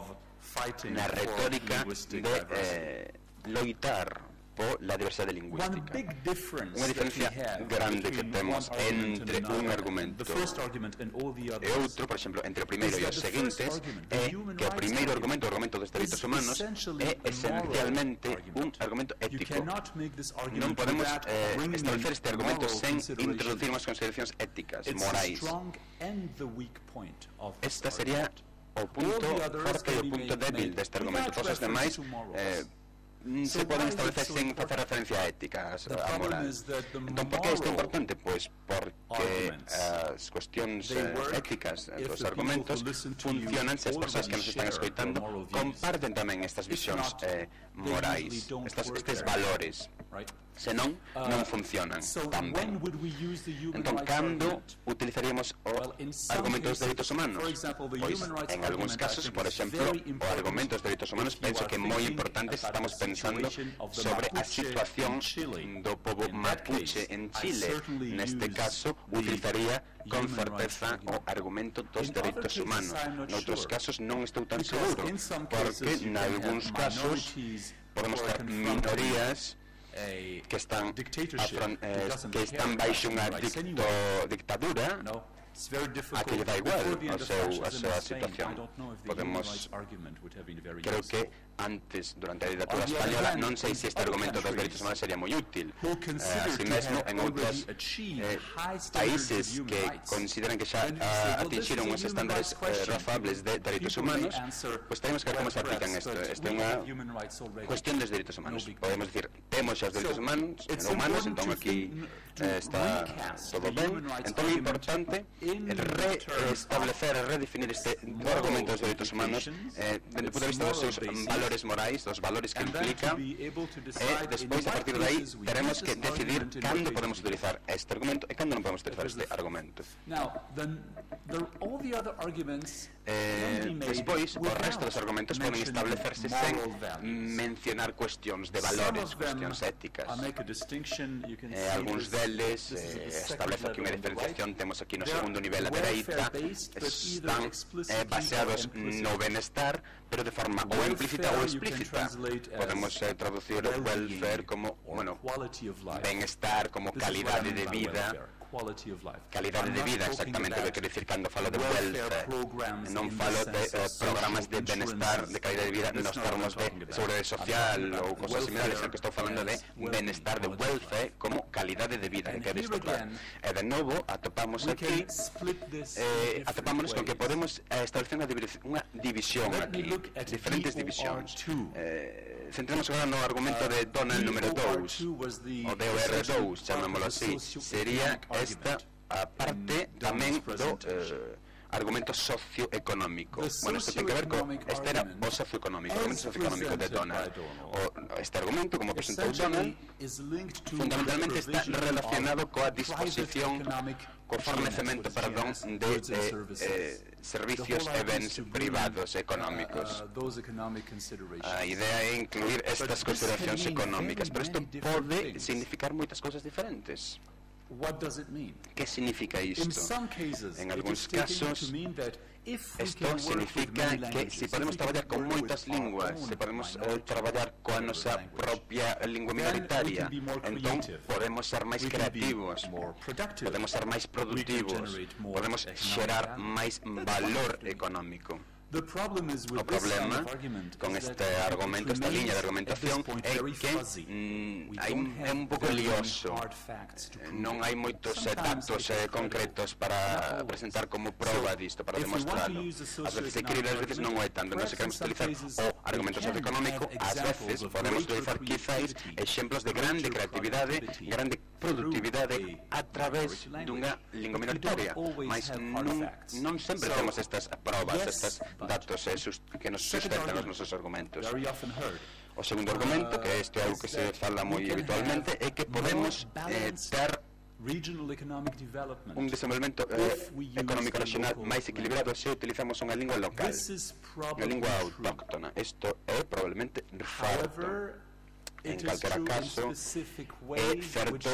na retórica de eh, loitar pola diversidade One lingüística. big difference Unha diferencia that we have grande que between temos one argument entre and un another, argumento the first argument and all the e others, outro, por exemplo, entre o primeiro e os is that the first seguintes, argument, the é human que o rights primeiro argument, argumento, o argumento dos dereitos is humanos, essentially é a moral esencialmente un argument. argumento You ético. cannot make this argument Non podemos without eh, bringing establecer in este argumento moral sen consideration. introducir unhas consideracións éticas, It's morais. the strong and the weak point of this Esta sería argument. o punto All the others forte e o can be punto made- débil made deste argumento. without Todos os demais reference to morals. eh, mm, So se poden why is it establecer so sen important? facer referencia a éticas, The a problem moral. is that the Entón, por que isto é moral importante? Pois porque arguments, as cuestións they eh, work éticas if dos the people argumentos who listen to you funcionan se as persoas que nos están already share escoitando the moral views. comparten tamén estas If visións not, eh, they morais, usually don't estas, work estes very valores. right? Senón, Uh, non funcionan So tan when ben. would we use the human Entón, rights cando argument? utilizaríamos o Well, in some argumento dos cases, dereitos humanos? for example, the Pois, human rights en algúns argument, I casos, think, por is exemplo, very o important argumento dos dereitos humanos if you penso are que é moi thinking importante se about estamos the pensando situation of the sobre a Mapuche situación in Chile. do povo In that mapuche case, en I Chile. certainly Neste use caso, the utilizaría con human certeza rights o argument. argumento dos In other dereitos cases, humanos. I'm not Noutros sure. casos non estou tan Because seguro, in some porque cases you can have nalgúns casos minorities podemos who ter are confronting minorías a que están, dictatorship afron- who eh, doesn't que care están about baixo human unha rights dicto, anyway. dictadura. No, it's very difficult. A que lle dá igual Before the end ao of seu- a fascism súa in Spain, situación. I don't know if the Podemos- human rights argument would have been very Creo useful. que antes, durante a dictadura On the other española, hand, non sei se este other argumento dos countries dereitos humanos sería moi útil. who Eh, consider así to mesmo, have en outros already achieved eh, high standards of países human que rights. consideran que xa Then you ah, say, well, this atingiron is a os human estándares rights eh, question. razoables de dereitos People may humanos, answer, pois tenemos que ver como se well, aplican perhaps, isto. but Isto é we unha have human rights already. cuestión dos dereitos humanos. No big Podemos deal. dicir, temos xa os dereitos So, humanos, it's humanos, important entón to aquí think- to eh, está recast todo the ben. human rights Entón é argument importante in reestablecer e redefinir este moral argumento dos dereitos humanos implications, eh, dende o punto de its vista dos seus moral basis, valores morais, dos valores que and then implica. to be able to E decide despois, in a what partir de aí, cases we teremos use que this decidir argument and cando what podemos cases we utilizar este argumento e cando non podemos utilizar Because este the- argumento. Now, then, the, all the other arguments Eh, can be made despois, o without resto dos argumentos poden mentioning establecerse sen moral values. mencionar cuestións de Some valores, of them, cuestións éticas. I make a distinction, you can Eh, see algúns this- deles this is eh, the second establece aquí unha level on the diferenciación, right. temos aquí no They are segundo nivel a dereita, welfare-based, but either están explicitly eh, baseados or implicitly. no benestar, pero de forma ou Welfare implícita ou you can explícita. translate as Podemos eh, traducir well-being welfare como, or bueno, quality of life. benestar, como This is what I calidade mean de by vida. welfare, quality of life. Calidade I'm de not vida, talking exactamente o que about quero dicir cando falo de welfare welfare. programs Non in the falo de sense eh, of programas de social benestar, de calidad de vida, That's nos not what I'm termos de talking about. seguridade I'm social talking about ou cosas similares, welfare o que estou falando de as well-being, benestar, de quality of welfare como calidade de vida, And que é here isto claro. again, E de novo atopamos We aquí can split this eh, in atopámonos con que different podemos ways. eh, establecer unha, divisi- unha división Let me aquí, look at diferentes D O R divisións. two. Eh, centremos agora no argumento de Donald número D O R dous, two was the o D O R essential dous, chamémolo part of the así. Sería socioeconomic esta argument a parte in tamén Donald's do presentation. eh, argumento socioeconómico. The Bueno, isto ten que ver co socioeconomic este era argument, o socioeconómico, o as argumento socioeconómico de presented Donald. by Donald, O, este argumento, como presentou Donald, essentially is linked to fundamentalmente the está provision relacionado of coa private disposición, economic co fornecemento, G N S, perdón, what is de Goods and eh, services. eh, servicios The e whole bens idea is to bring, privados uh, económicos. uh, those economic considerations. A idea é incluir estas this consideracións can mean económicas, very pero isto many different pode things. significar moitas cousas diferentes. What does it mean? Que significa In isto? some cases, En it algúns is taken casos, to mean that if we Isto can work with significa many que languages, se if podemos we can traballar con work moitas with our linguas, own se podemos eh, minority traballar coa language, nosa propia lingua then we minoritaria, can be more entón creative. podemos ser máis We can be creativos, more productive. podemos ser máis productivos, generate more podemos economic xerar value. máis That's valor wonderful. económico. The problem is with O this kind problema of argument con is este that it argumento, esta liña de remains argumentación at this point é very que fuzzy. mm, We hai don't un- é have un pouco very lioso. hard facts to Eh, prove Non it. hai moitos eh, Sometimes datos it's eh, credible, concretos not para always. presentar como proba So, disto, para if we want to demostrarlo. use the Ás veces é socioeconomic creíble, ás veces non o é tanto. Entón, se argument, queremos perhaps in utilizar some cases o argumento we can socioeconómico, have ás examples veces of podemos greater utilizar quizáis creativity, exemplos de grande greater creatividade, productivity grande productividade through a a través minority dunha language. lingua But we don't minoritaria, always mas have hard non, facts. non sempre So, temos estas probas, yes, estes but datos eh, sus, que nos second sustentan os argument, nosos argumentos. very often heard. O segundo argumento, que este é algo que se fala moi habitualmente, é que podemos eh, ter Regional economic development. un desenvolvemento eh, If we use económico the nacional local máis equilibrado se utilizamos unha lingua local, This is unha probably lingua true. autóctona. Isto é probablemente certo. However, En calquera caso, é certo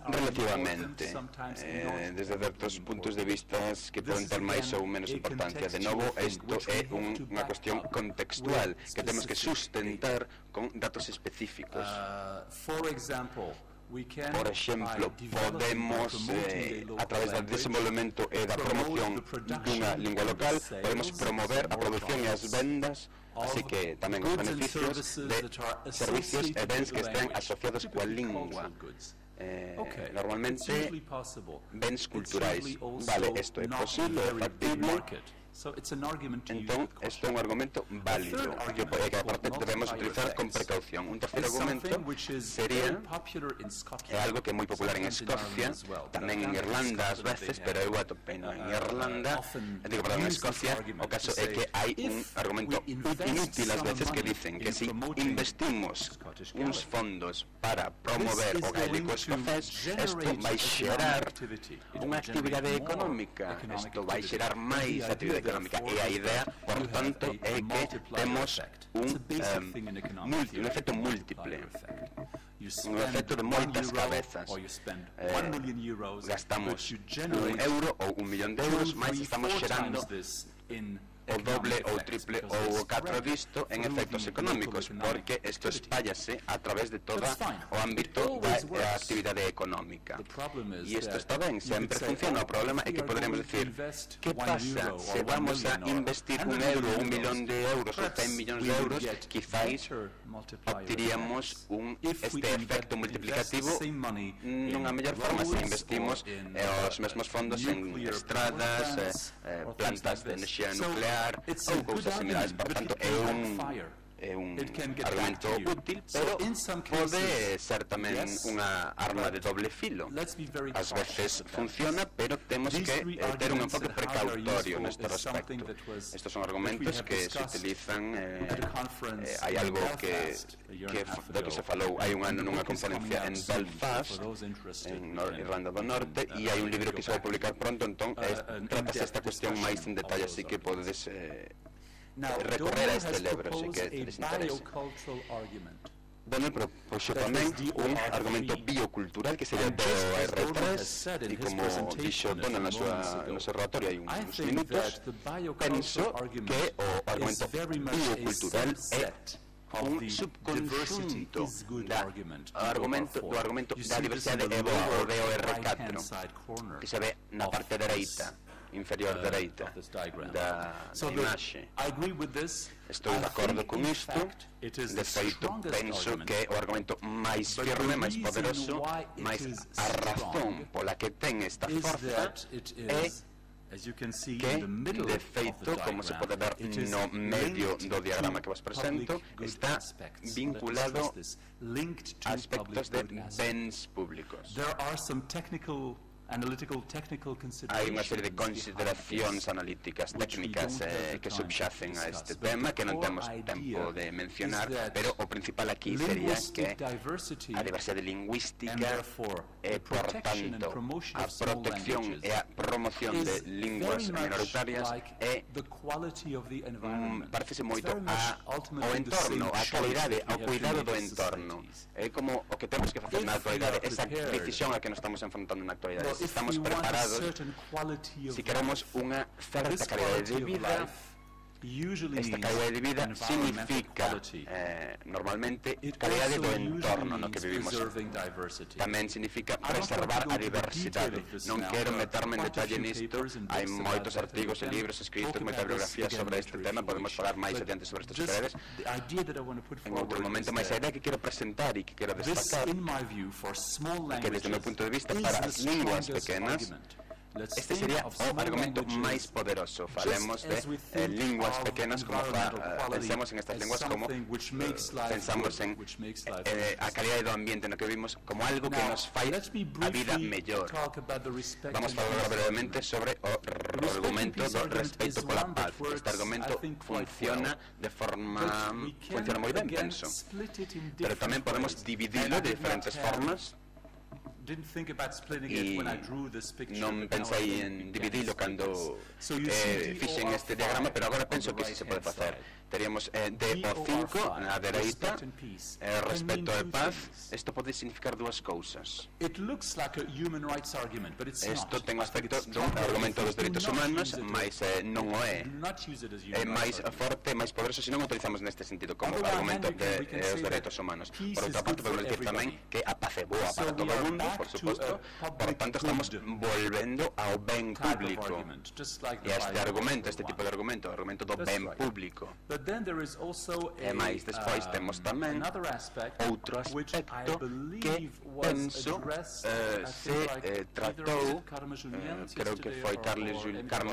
relativamente, eh, desde certos puntos de vista que poden ter máis ou menos importancia. De novo, isto é un, unha cuestión contextual que temos que sustentar con datos específicos. Por exemplo, podemos, eh, a través do desenvolvemento e da promoción dunha lingua local, podemos promover a produción e as vendas, así que tamén os beneficios de servicios e bens que estén asociados coa lingua. Eh, normalmente, bens culturais. Vale, isto é posible, é factible. Entón, isto é un argumento válido que, que aparte debemos utilizar con precaución. Un terceiro argumento sería é algo que é moi popular en Escocia, tamén en Irlanda ás veces, pero eu atopei en Irlanda, digo, perdón, en Escocia, o caso é que hai un argumento inútil ás veces que dicen que se investimos uns fondos para promover o gaélico escocés, isto vai xerar unha actividade económica, isto vai xerar máis actividade económica, e a idea, por tanto, é que temos un, um, multi, un efecto múltiple, un efecto de moitas cabezas. Eh, gastamos un euro ou un millón de euros, máis estamos xerando o doble ou triple ou o catro disto en efectos económicos, porque isto espállase a través de todo o ámbito da, da actividade económica. E isto está ben, sempre funciona. O problema é que poderíamos decir, que pasa se vamos a investir un euro, un millón de euros ou cen millóns de euros, quizáis obtiríamos un, este efecto multiplicativo nunha mellor forma se investimos eh, os mesmos fondos en estradas, eh, eh, plantas de enerxía nuclear ou cousas similares. Por tanto, é un, é un argumento útil, pero pode ser tamén unha arma de doble filo. Ás veces funciona, pero temos que eh, ter un enfoque precautorio neste respecto. Estes son argumentos que se utilizan, eh, eh, hai algo que, que do que se falou hai un ano nunha conferencia en Belfast, en Nor Irlanda do Norte, e hai un libro que se vai publicar pronto, entón eh, tratase esta cuestión máis en detalle, así que podedes eh, recorrer a este libro, se que les interese. Daniel propuxo tamén un argumento biocultural que sería B O R tres, e como dixo Donald na súa, no seu relatorio hai uns minutos, penso que o argumento biocultural é un subconxunto da argumento, do argumento da diversidade e boa, o B O R catro, que se ve na parte dereita, inferior dereita da imaxe. Estou de acordo con isto. De feito, penso que o argumento máis firme, máis poderoso, máis a razón pola que ten esta forza é que, de feito, como se pode ver no medio do diagrama que vos presento, está vinculado a aspectos de bens públicos. Hai unha serie de consideracións analíticas técnicas eh, que subxacen a este tema que non temos tempo de mencionar, pero o principal aquí sería que a diversidade lingüística e, por tanto, a protección e a promoción de linguas minoritarias é mm, parecese moito a, ao entorno, a calidade, ao cuidado do entorno. É como o que temos que facer na actualidade, esa decisión a que nos estamos enfrontando na actualidade. Si estamos preparados, si queremos unha certa calidade de vida, esta calidade de vida significa eh, normalmente calidade do entorno no que vivimos. Tamén significa preservar a diversidade. Non quero meterme en detalle nisto, hai moitos artigos e libros escritos, moita bibliografía sobre este tema, podemos falar máis adiante sobre estas breves. En outro momento, máis a idea que quero presentar e que quero destacar, que desde o meu punto de vista, para as linguas pequenas, este sería o argumento máis poderoso. Falemos de eh, linguas pequenas, como fa, uh, pensemos en estas linguas como uh, pensamos en eh, a calidade do ambiente no que vivimos como algo que nos fai a vida mellor. Vamos a falar brevemente sobre o argumento do respeito pola paz. Este argumento funciona de forma funciona moi ben, penso, pero tamén podemos dividirlo de diferentes formas. e non pensei en dividilo cando eh, fixen este diagrama, pero agora penso que si se pode facer. Teríamos eh, D O cinco na dereita, eh, respecto e paz. Isto pode significar dúas cousas. Isto ten aspecto dun argumento dos dereitos humanos, mas eh, non o é. É máis forte, máis poderoso, se non o utilizamos neste sentido como argumento de eh, os dereitos humanos. Por outra parte, podemos dicir tamén que a paz é boa para todo o mundo, por suposto. Por tanto, estamos volvendo ao ben público. E este argumento, este tipo de argumento, o argumento do ben público. E máis, despois temos tamén outro aspecto que penso eh, se eh, tratou, eh, creo que foi Carmen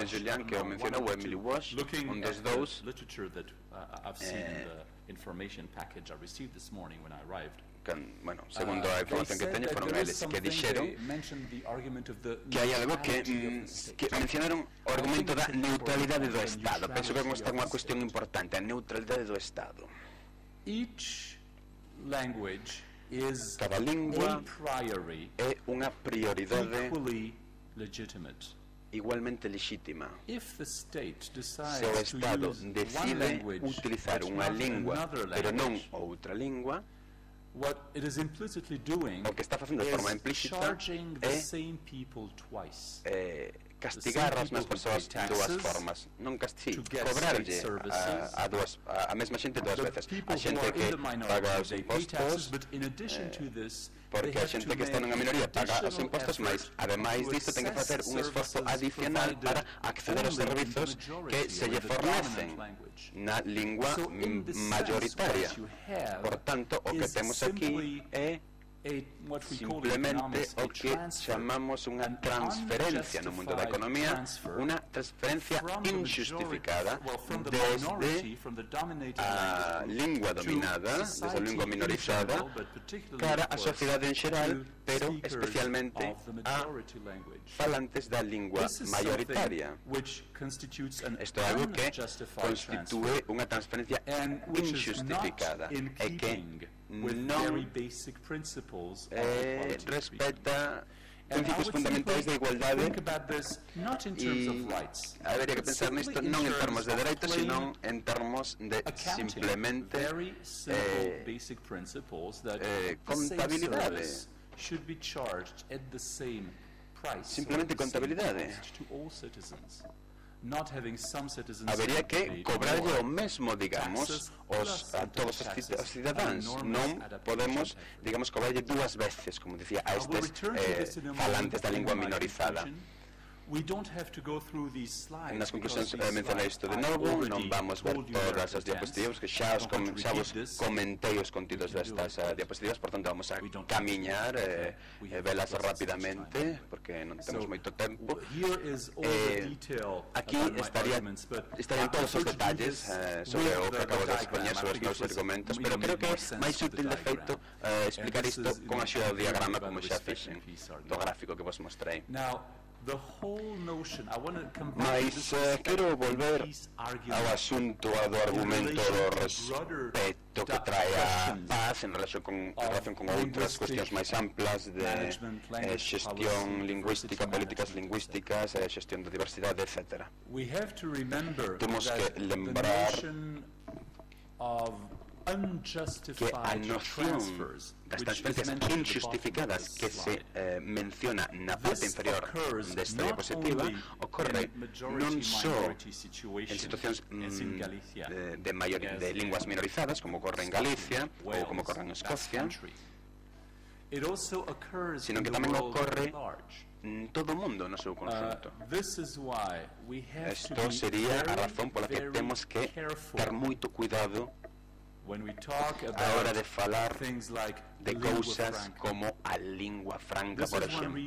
Julián que o mencionou, ou Emily Walsh, un dos dous, eh, Can, bueno, segundo a información que teño, foron eles que dixeron que hai algo que, mm, que mencionaron o argumento da neutralidade do Estado. Penso que é unha cuestión importante, a neutralidade do Estado. Cada lingua é unha prioridade igualmente legítima. Se o Estado decide utilizar unha lingua, pero non outra lingua, o que está facendo de forma implícita é eh, castigar as mesmas persoas de dúas formas. Non castigar, cobrarlle a, a, dúas, a, a mesma xente dúas veces. A xente que paga os impostos, eh, porque a xente que está nunha minoría paga os impostos, mas ademais disto ten que facer un esforzo adicional para acceder aos servizos que se lle fornecen na lingua mayoritaria. Por tanto, o que temos aquí é simplemente o que chamamos unha transferencia no mundo da economía, unha transferencia injustificada desde a lingua dominada, desde a lingua minorizada, cara a sociedade en xeral, pero especialmente a falantes da lingua mayoritaria. Isto é algo que constitúe unha transferencia injustificada e que non eh, respeta principios fundamentais da igualdade, e habería que pensar nisto non en termos de dereitos, sino en termos de simplemente eh, eh, contabilidade. Simplemente contabilidade. Habería que cobrarlle o mesmo, digamos, os, a todos os cidadáns. Non podemos, digamos, cobrarlle dúas veces, como dicía, a estes eh, falantes da lingua minorizada. Nas conclusións eh, mencionei isto de novo, non vamos ver todas as diapositivas, que xa, os com, xa vos comentei os contidos destas uh, diapositivas, por tanto vamos a camiñar e eh, velas rapidamente, porque non temos moito tempo. Eh, aquí estaría, estarían todos os detalles eh, sobre o que acabo de expoñer sobre os meus argumentos, pero creo que é máis útil de feito eh, explicar isto con a xeo do diagrama, como xa fixen, do gráfico que vos mostrei. Mas eh, quero volver ao asunto do argumento do respeto que trae a paz en relación con, en relación con outras cuestións máis amplas de eh, xestión lingüística, políticas lingüísticas, eh, xestión da diversidade, etcétera. Temos que lembrar que a noción das transferencias injustificadas que se eh, menciona na parte inferior desta diapositiva ocorre non só en situacións mm, de, de, mayor, de linguas minorizadas, como ocorre en Galicia ou como ocorre en Escocia, sino que tamén ocorre en todo o mundo no seu conjunto. Isto sería a razón pola que temos que ter moito cuidado a hora de falar de cousas como a lingua franca, por exemplo.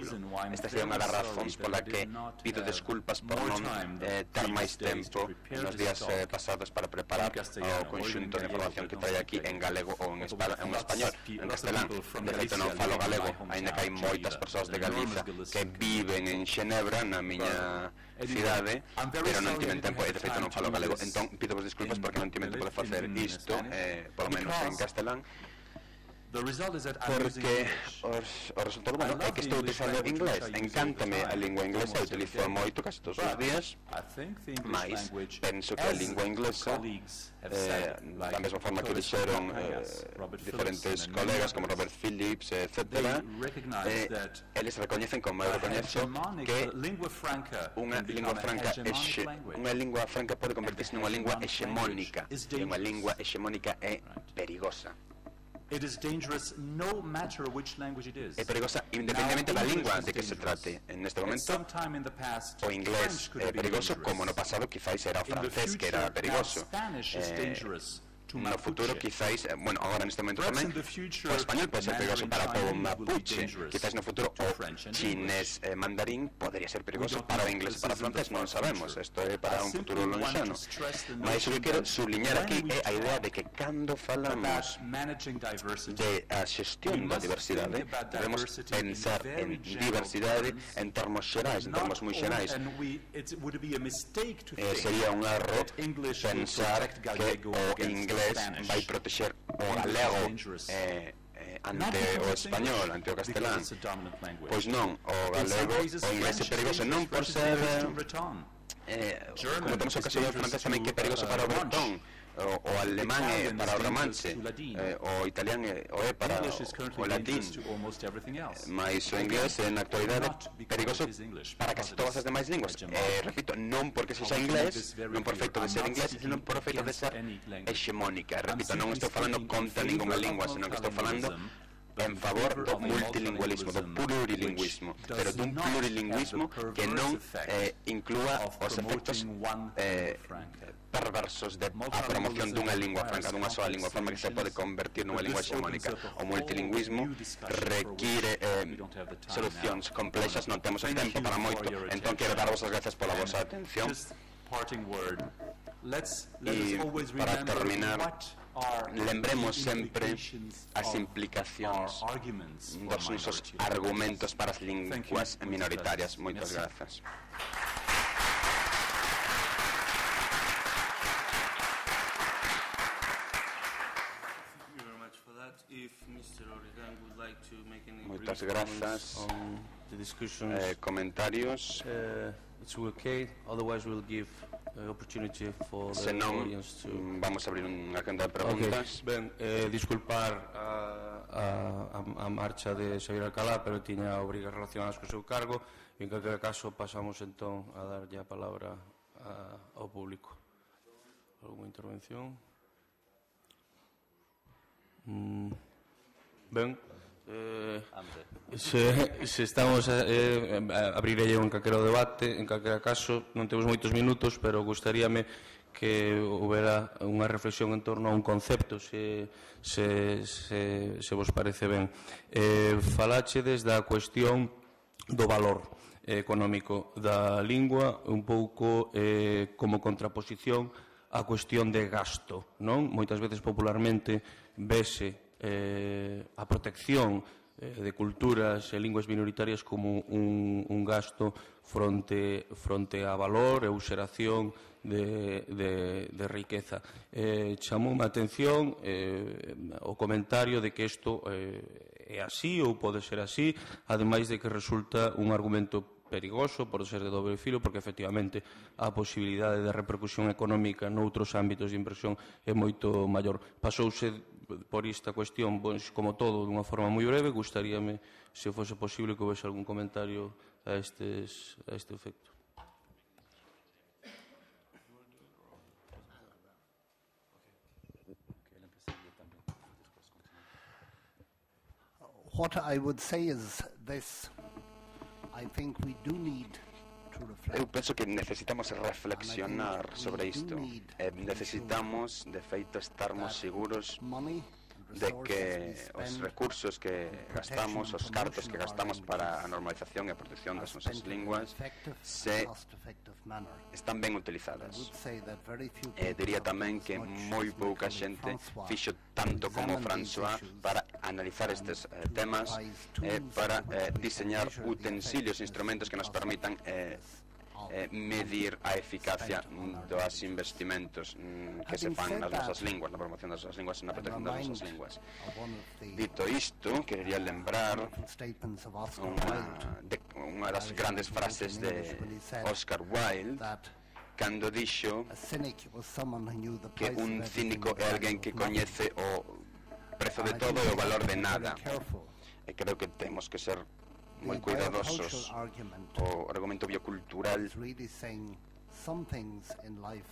Esta sería unha das razóns pola que pido desculpas por non eh, ter máis tempo nos días eh, pasados para preparar o conxunto de información que trae aquí en galego ou en, espa en español, en castelán. De feito non falo galego, aínda que hai moitas persoas de Galiza que viven en Xenebra, na miña cidade, pero non tiven tempo, e de feito non falo galego. Entón, pido vos desculpas porque non tiven tempo de facer isto, eh, por lo menos en castelán. porque os, o resultado bueno é que estou utilizando inglés. Encántame a lingua inglesa, utilizo moito casi todos os días, mas penso que a lingua inglesa, eh, da mesma forma que dixeron eh, diferentes colegas como Robert Phillips, etcétera, eh, eles recoñecen como eu recoñezo que unha lingua franca exe, unha lingua franca pode convertirse nunha lingua hexemónica, e unha lingua hexemónica é perigosa. It is dangerous no matter which language it is. É perigosa independentemente da lingua de que se trate. En este momento, o inglés é perigoso, como no pasado quizás era o francés que era perigoso. Eh, no futuro quizás, eh, bueno, agora neste momento tamén, o español pode ser perigoso para o mapuche, quizás no futuro o chinés eh, mandarín podría ser perigoso para o inglés e para o francés, non sabemos, isto é para un futuro lonxano. Mas o que quero subliñar aquí é a idea de que cando falamos de a xestión da diversidade, debemos pensar en diversidade en termos xerais, en termos moi xerais. Eh, sería un erro pensar que o inglés vai protexer o galego eh, eh, ante o español, ante o castelán. Pois non, o galego, o inglés é perigoso non por ser eh, como temos o caso do francés tamén que é perigoso para o bretón, o, o alemán é para o romanche, eh, o italián é, o é para o, o latín, mas o inglés é na actualidade perigoso para casi todas as demais linguas. Eh, repito, non porque sexa inglés, non por efecto de ser inglés, senón por efecto de ser hexemónica. Repito, non estou falando contra ninguna lingua, senón que estou falando en favor do multilingüismo, do plurilingüismo, pero dun plurilingüismo que non eh, inclúa os efectos eh, perversos de a promoción dunha lingua franca, dunha sola lingua franca que se pode convertir nunha lingua hexemónica. O multilingüismo require eh, solucións complexas, non temos o tempo para moito, entón quero darvos as gracias pola vosa atención. E para terminar, lembremos sempre as implicacións dos nosos argumentos para as linguas minoritarias. Moitas grazas. Moitas grazas. Eh, comentarios. It's okay, otherwise we'll give uh, opportunity for the Senón, audience to... vamos a abrir unha agenda de preguntas. Okay. Ben, eh, disculpar a, a, a marcha de Xavier Alcalá, pero tiña obrigas relacionadas co seu cargo, e en calquera caso pasamos entón a dar a palabra a, ao público. Alguna intervención? Mm, ben, Eh, se, se estamos a, eh, a abrirei un calquero debate, en calquera caso non temos moitos minutos, pero gustaríame que houbera unha reflexión en torno a un concepto, se, se, se, se vos parece ben. Eh, falachedes da cuestión do valor eh, económico da lingua, un pouco eh, como contraposición á cuestión de gasto, non? Moitas veces popularmente vese Eh, a protección eh, de culturas e linguas minoritarias como un, un gasto fronte, fronte a valor e useración de, de, de riqueza. Eh, chamou a atención eh, o comentario de que isto eh, é así ou pode ser así, ademais de que resulta un argumento perigoso por ser de doble filo, porque efectivamente a posibilidade de repercusión económica noutros ámbitos de inversión é moito maior. Pasouse por esta cuestión, pois, como todo, dunha forma moi breve. Gustaríame, se fose posible, que houvese algún comentario a, estes, a este efecto. What I would say is this. I think we do need to reflect. Eu penso que necesitamos reflexionar sobre isto. Eh, necesitamos, de feito, estarmos seguros de que os recursos que gastamos, os cartos que gastamos para a normalización e a protección das nosas linguas se están ben utilizadas. E diría tamén que moi pouca xente fixo tanto como François para analizar estes eh, temas e eh, para eh, diseñar utensilios, instrumentos que nos permitan eh, eh, medir a eficacia dos investimentos mm, que se fan nas nosas linguas, na promoción das nosas linguas e na protección das nosas linguas. Dito isto, quería lembrar unha, de, unha das grandes frases de Oscar Wilde, cando dixo que un cínico é alguén que coñece o prezo de todo e o valor de nada. E creo que temos que ser moi cuidadosos. O argumento biocultural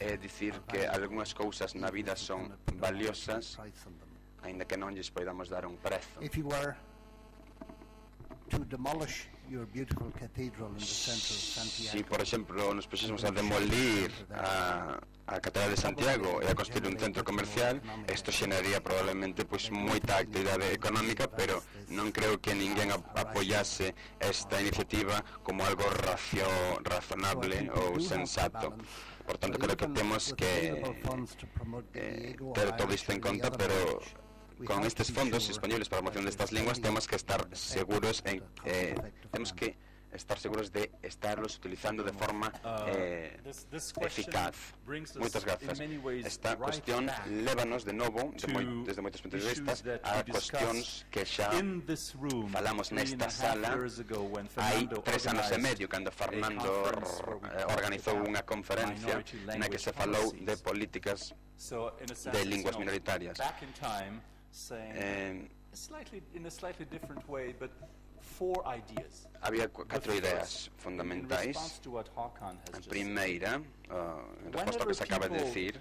é dicir que algunhas cousas na vida son valiosas aínda que non lles poidamos dar un prezo. Si, por exemplo, nos puxésemos a demolir a, a Catedral de Santiago e a construir un centro comercial, isto xeraría probablemente pois, moita actividade económica, pero non creo que ninguén apoyase esta iniciativa como algo racio, razonable ou sensato. Por tanto, creo que temos que eh, ter todo isto en conta, pero con estes fondos disponibles para a promoción destas linguas temos que estar seguros en, eh, temos que estar seguros de estarlos utilizando de forma eh, eficaz. Moitas grazas. Esta cuestión lévanos de novo, de moi, desde moitos puntos de vista, a cuestións que xa falamos nesta sala hai tres anos e medio, cando Fernando eh, organizou unha conferencia na que se falou de políticas de linguas minoritarias. Eh, había catro ideas fundamentais. A primeira, uh, en resposta ao que se acaba de decir,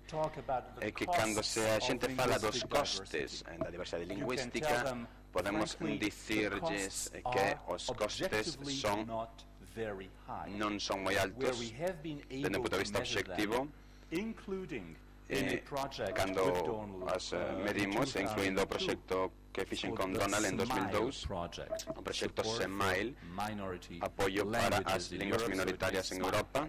é que cando se a xente fala dos costes da diversidade lingüística, podemos dicirlles que os costes son non son moi altos dende o punto de vista objetivo, Eh, cando as eh, medimos, incluindo o proxecto que fixen con Donald en dos mil dous, o proxecto SEMILE, apoio para as linguas minoritarias en Europa.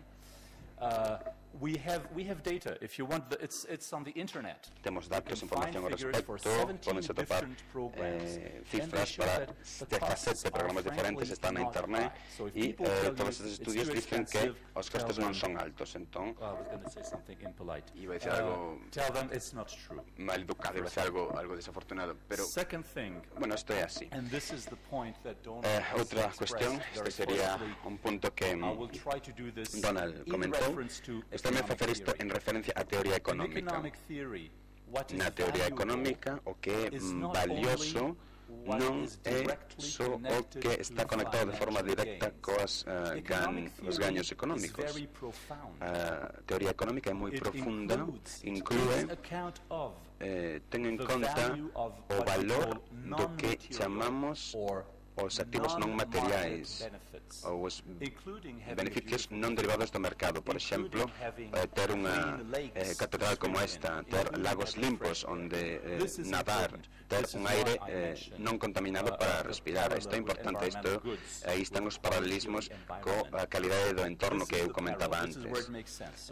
Uh, we have we have data. If you want, the, it's it's on the internet. Temos datos, información ao respecto, podense topar eh, cifras para dezasete programas diferentes, están na internet, e eh, todos estes estudios dicen que os costes non son altos, entón iba a dicir algo mal educado, iba a dicir algo, algo desafortunado, pero bueno, isto é así. Eh, outra cuestión, este sería un punto que Donald comentou. Estou a facer isto en referencia á teoría económica. Na teoría económica, o que é valioso non é só o que está conectado de forma directa coas uh, gan, os gaños económicos. A teoría económica é moi profunda, inclúe eh, ten en conta o valor do que chamamos os activos non materiais ou os beneficios non derivados do mercado. Por exemplo, eh, ter unha eh, catedral como esta, ter lagos limpos onde eh, nadar, ter un aire eh, non contaminado para respirar. Isto é importante, isto, aí están os paralelismos coa calidade do entorno que eu comentaba antes.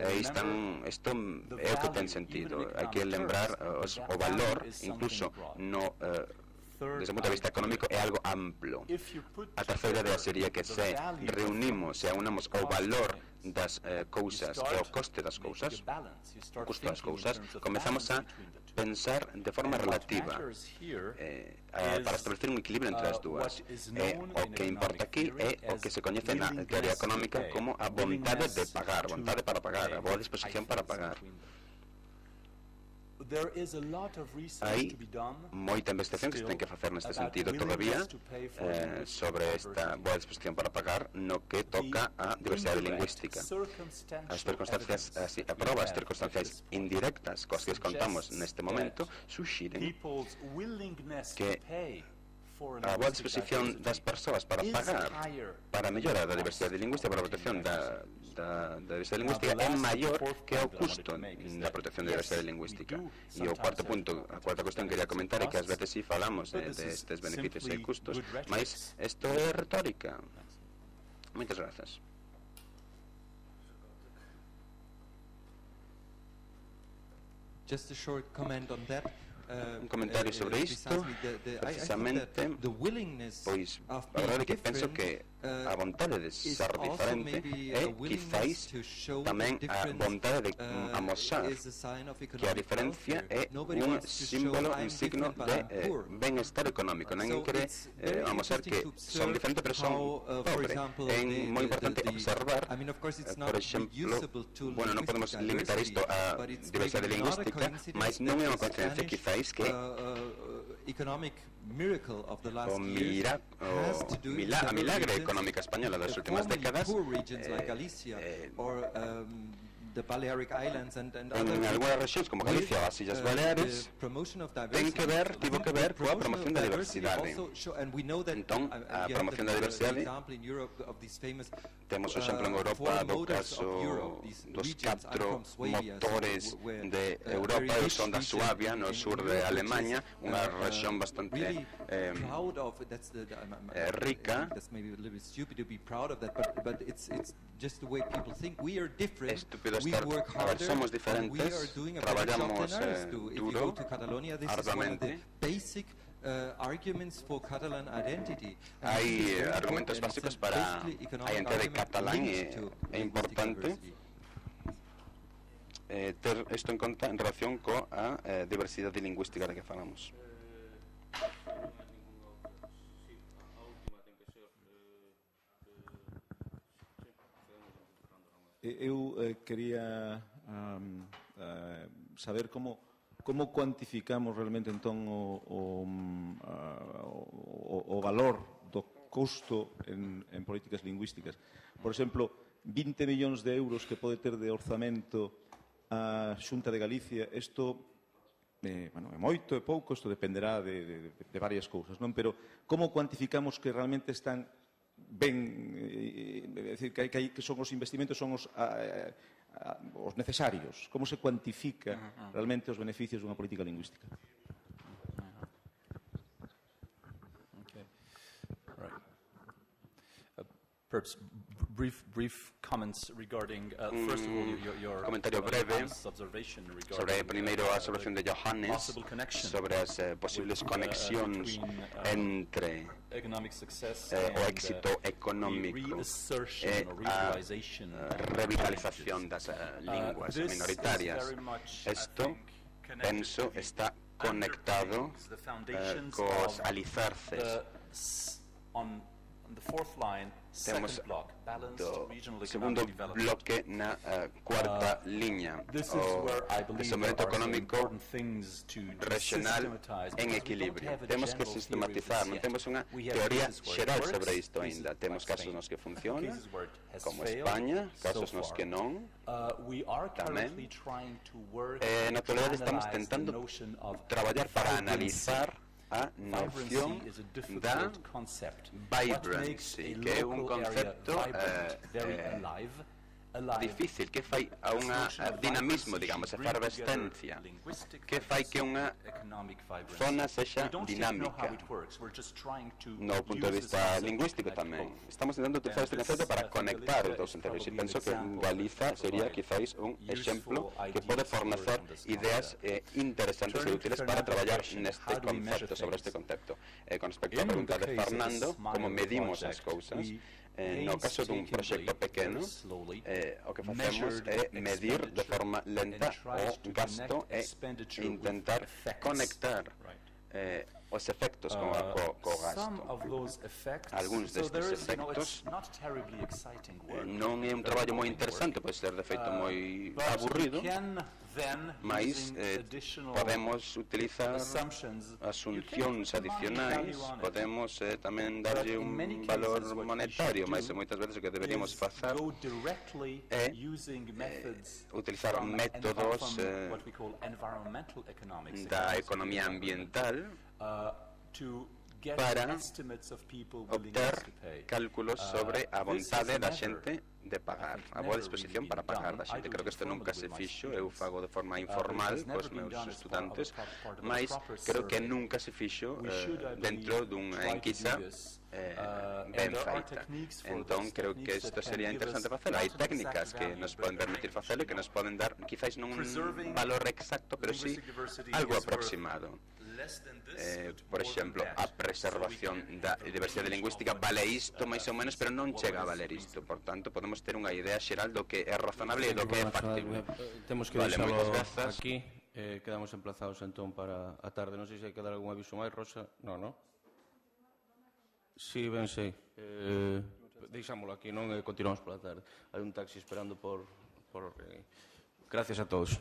Aí están, isto é o que ten sentido. Hai que lembrar uh, os, o valor, incluso no uh, desde o punto de vista económico, é algo amplo. A terceira idea sería que se reunimos e aunamos o valor das eh, cousas e o coste das cousas, o custo das cousas, comezamos a pensar de forma relativa eh, a, para establecer un equilibrio entre as dúas. E o que importa aquí é o que se coñece na teoría económica como a vontade de pagar, vontade para pagar, a boa disposición para pagar. Hai moita investigación que se ten que facer neste sentido todavía eh, sobre esta boa disposición para pagar no que toca a diversidade lingüística. As circunstancias, así, a prova, as circunstancias indirectas coas que contamos neste momento suxiren que a boa disposición das persoas para pagar para a mellora da diversidade lingüística, para a protección da, da, da diversidade lingüística é maior que o custo da protección da diversidade lingüística. E o cuarto punto, a cuarta cuestión que quería comentar é que ás veces si falamos de, de estes beneficios e custos, mas isto é retórica. Moitas grazas. Just a short comment on that. Un comentario sobre isto, precisamente, pois, a verdade é que penso que a vontade de ser diferente e quizáis tamén a vontade de amosar que a diferencia é un símbolo, un signo de eh, benestar económico. Non quere eh, amosar que son diferentes pero son pobres. É moi importante observar, eh, por exemplo, bueno, non podemos limitar isto a diversidade lingüística, mas non é unha coincidencia quizáis que o, mira, o mila, a milagre económica española das últimas décadas eh, eh, en algunhas rexións como Galicia ou as Illas Baleares ten que ver, tivo que ver coa promoción da diversidade. Entón, a promoción da diversidade, temos o exemplo en Europa do caso dos catro motores de Europa, e son da Suabia, no sur de Alemanha, unha rexión bastante eh, eh, rica. Estúpido estar, a ver, somos diferentes, traballamos eh, duro, arduamente. Hai eh, argumentos básicos para a identidade catalán, e é importante eh, ter isto en conta en relación coa eh, diversidade lingüística de que falamos. Eu eh, quería um, uh, saber como como cuantificamos realmente entón o, o, uh, o, o valor do custo en, en políticas lingüísticas. Por exemplo, vinte millóns de euros que pode ter de orzamento a Xunta de Galicia, isto eh, bueno, é moito, é pouco, isto dependerá de, de, de varias cousas, non? Pero como cuantificamos que realmente están ben, é dicir, que, que, que son os investimentos, son os, a, a, os necesarios? Como se cuantifica realmente os beneficios dunha política lingüística? Okay. Right. Uh, perhaps brief, brief comments regarding, uh, first of all, your, your comentario breve sobre primeiro a observación de Johannes sobre as eh, posibles conexións entre eh, o éxito económico e a revitalización das uh, linguas minoritarias. Isto, penso, está conectado eh, cos alicerces. Temos do segundo bloque na uh, cuarta uh, liña, o desenvolvemento económico regional en equilibrio. Temos que sistematizar, non temos unha teoría xeral sobre isto aínda. Temos casos nos que funciona, como España, casos nos que non, tamén. E na actualidade estamos tentando traballar para analizar a noción da vibrancy, que é un concepto eh, eh, difícil, que fai a unha dinamismo, digamos, efervescencia, que fai que unha zona sexa dinámica. No punto de vista lingüístico tamén. Estamos intentando utilizar este concepto para conectar os dous enteros, e penso que Galiza sería quizáis un exemplo que pode fornecer ideas eh, interesantes e útiles para traballar neste concepto, sobre este concepto. Eh, con respecto á pregunta de Fernando, como medimos as cousas, Eh, no caso dun proxecto pequeno, eh, o que facemos é medir de forma lenta o gasto e intentar conectar eh, os efectos con o co, co gasto. Algúns destes efectos eh, non é un traballo moi interesante, pode ser de feito moi aburrido, mas eh, podemos utilizar asuncións adicionais, podemos eh, tamén darlle un valor monetario, mas moitas veces o que deberíamos facer é eh, utilizar métodos eh, da economía ambiental para obter cálculos sobre a vontade da xente de pagar, a boa disposición para pagar da xente. Creo que isto nunca se fixo, eu fago de forma informal cos meus estudantes, mas creo que nunca se fixo eh, dentro dunha enquisa eh, ben feita. Entón, creo que isto sería interesante facelo. Hai técnicas que nos poden permitir facelo e que nos poden dar, quizáis non un valor exacto, pero sí algo aproximado. eh, por exemplo, a preservación da diversidade lingüística vale isto máis ou menos, pero non chega a valer isto. Por tanto, podemos ter unha idea xeral do que é razonable e do que é factible. Temos que Vale, deixalo moitas grazas. aquí. Eh, quedamos emplazados entón para a tarde. Non sei se hai que dar algún aviso máis, Rosa. Non, non? Si, ben sei. Eh, deixámolo aquí, non? E continuamos pola tarde. Hai un taxi esperando por... por eh. Gracias a todos.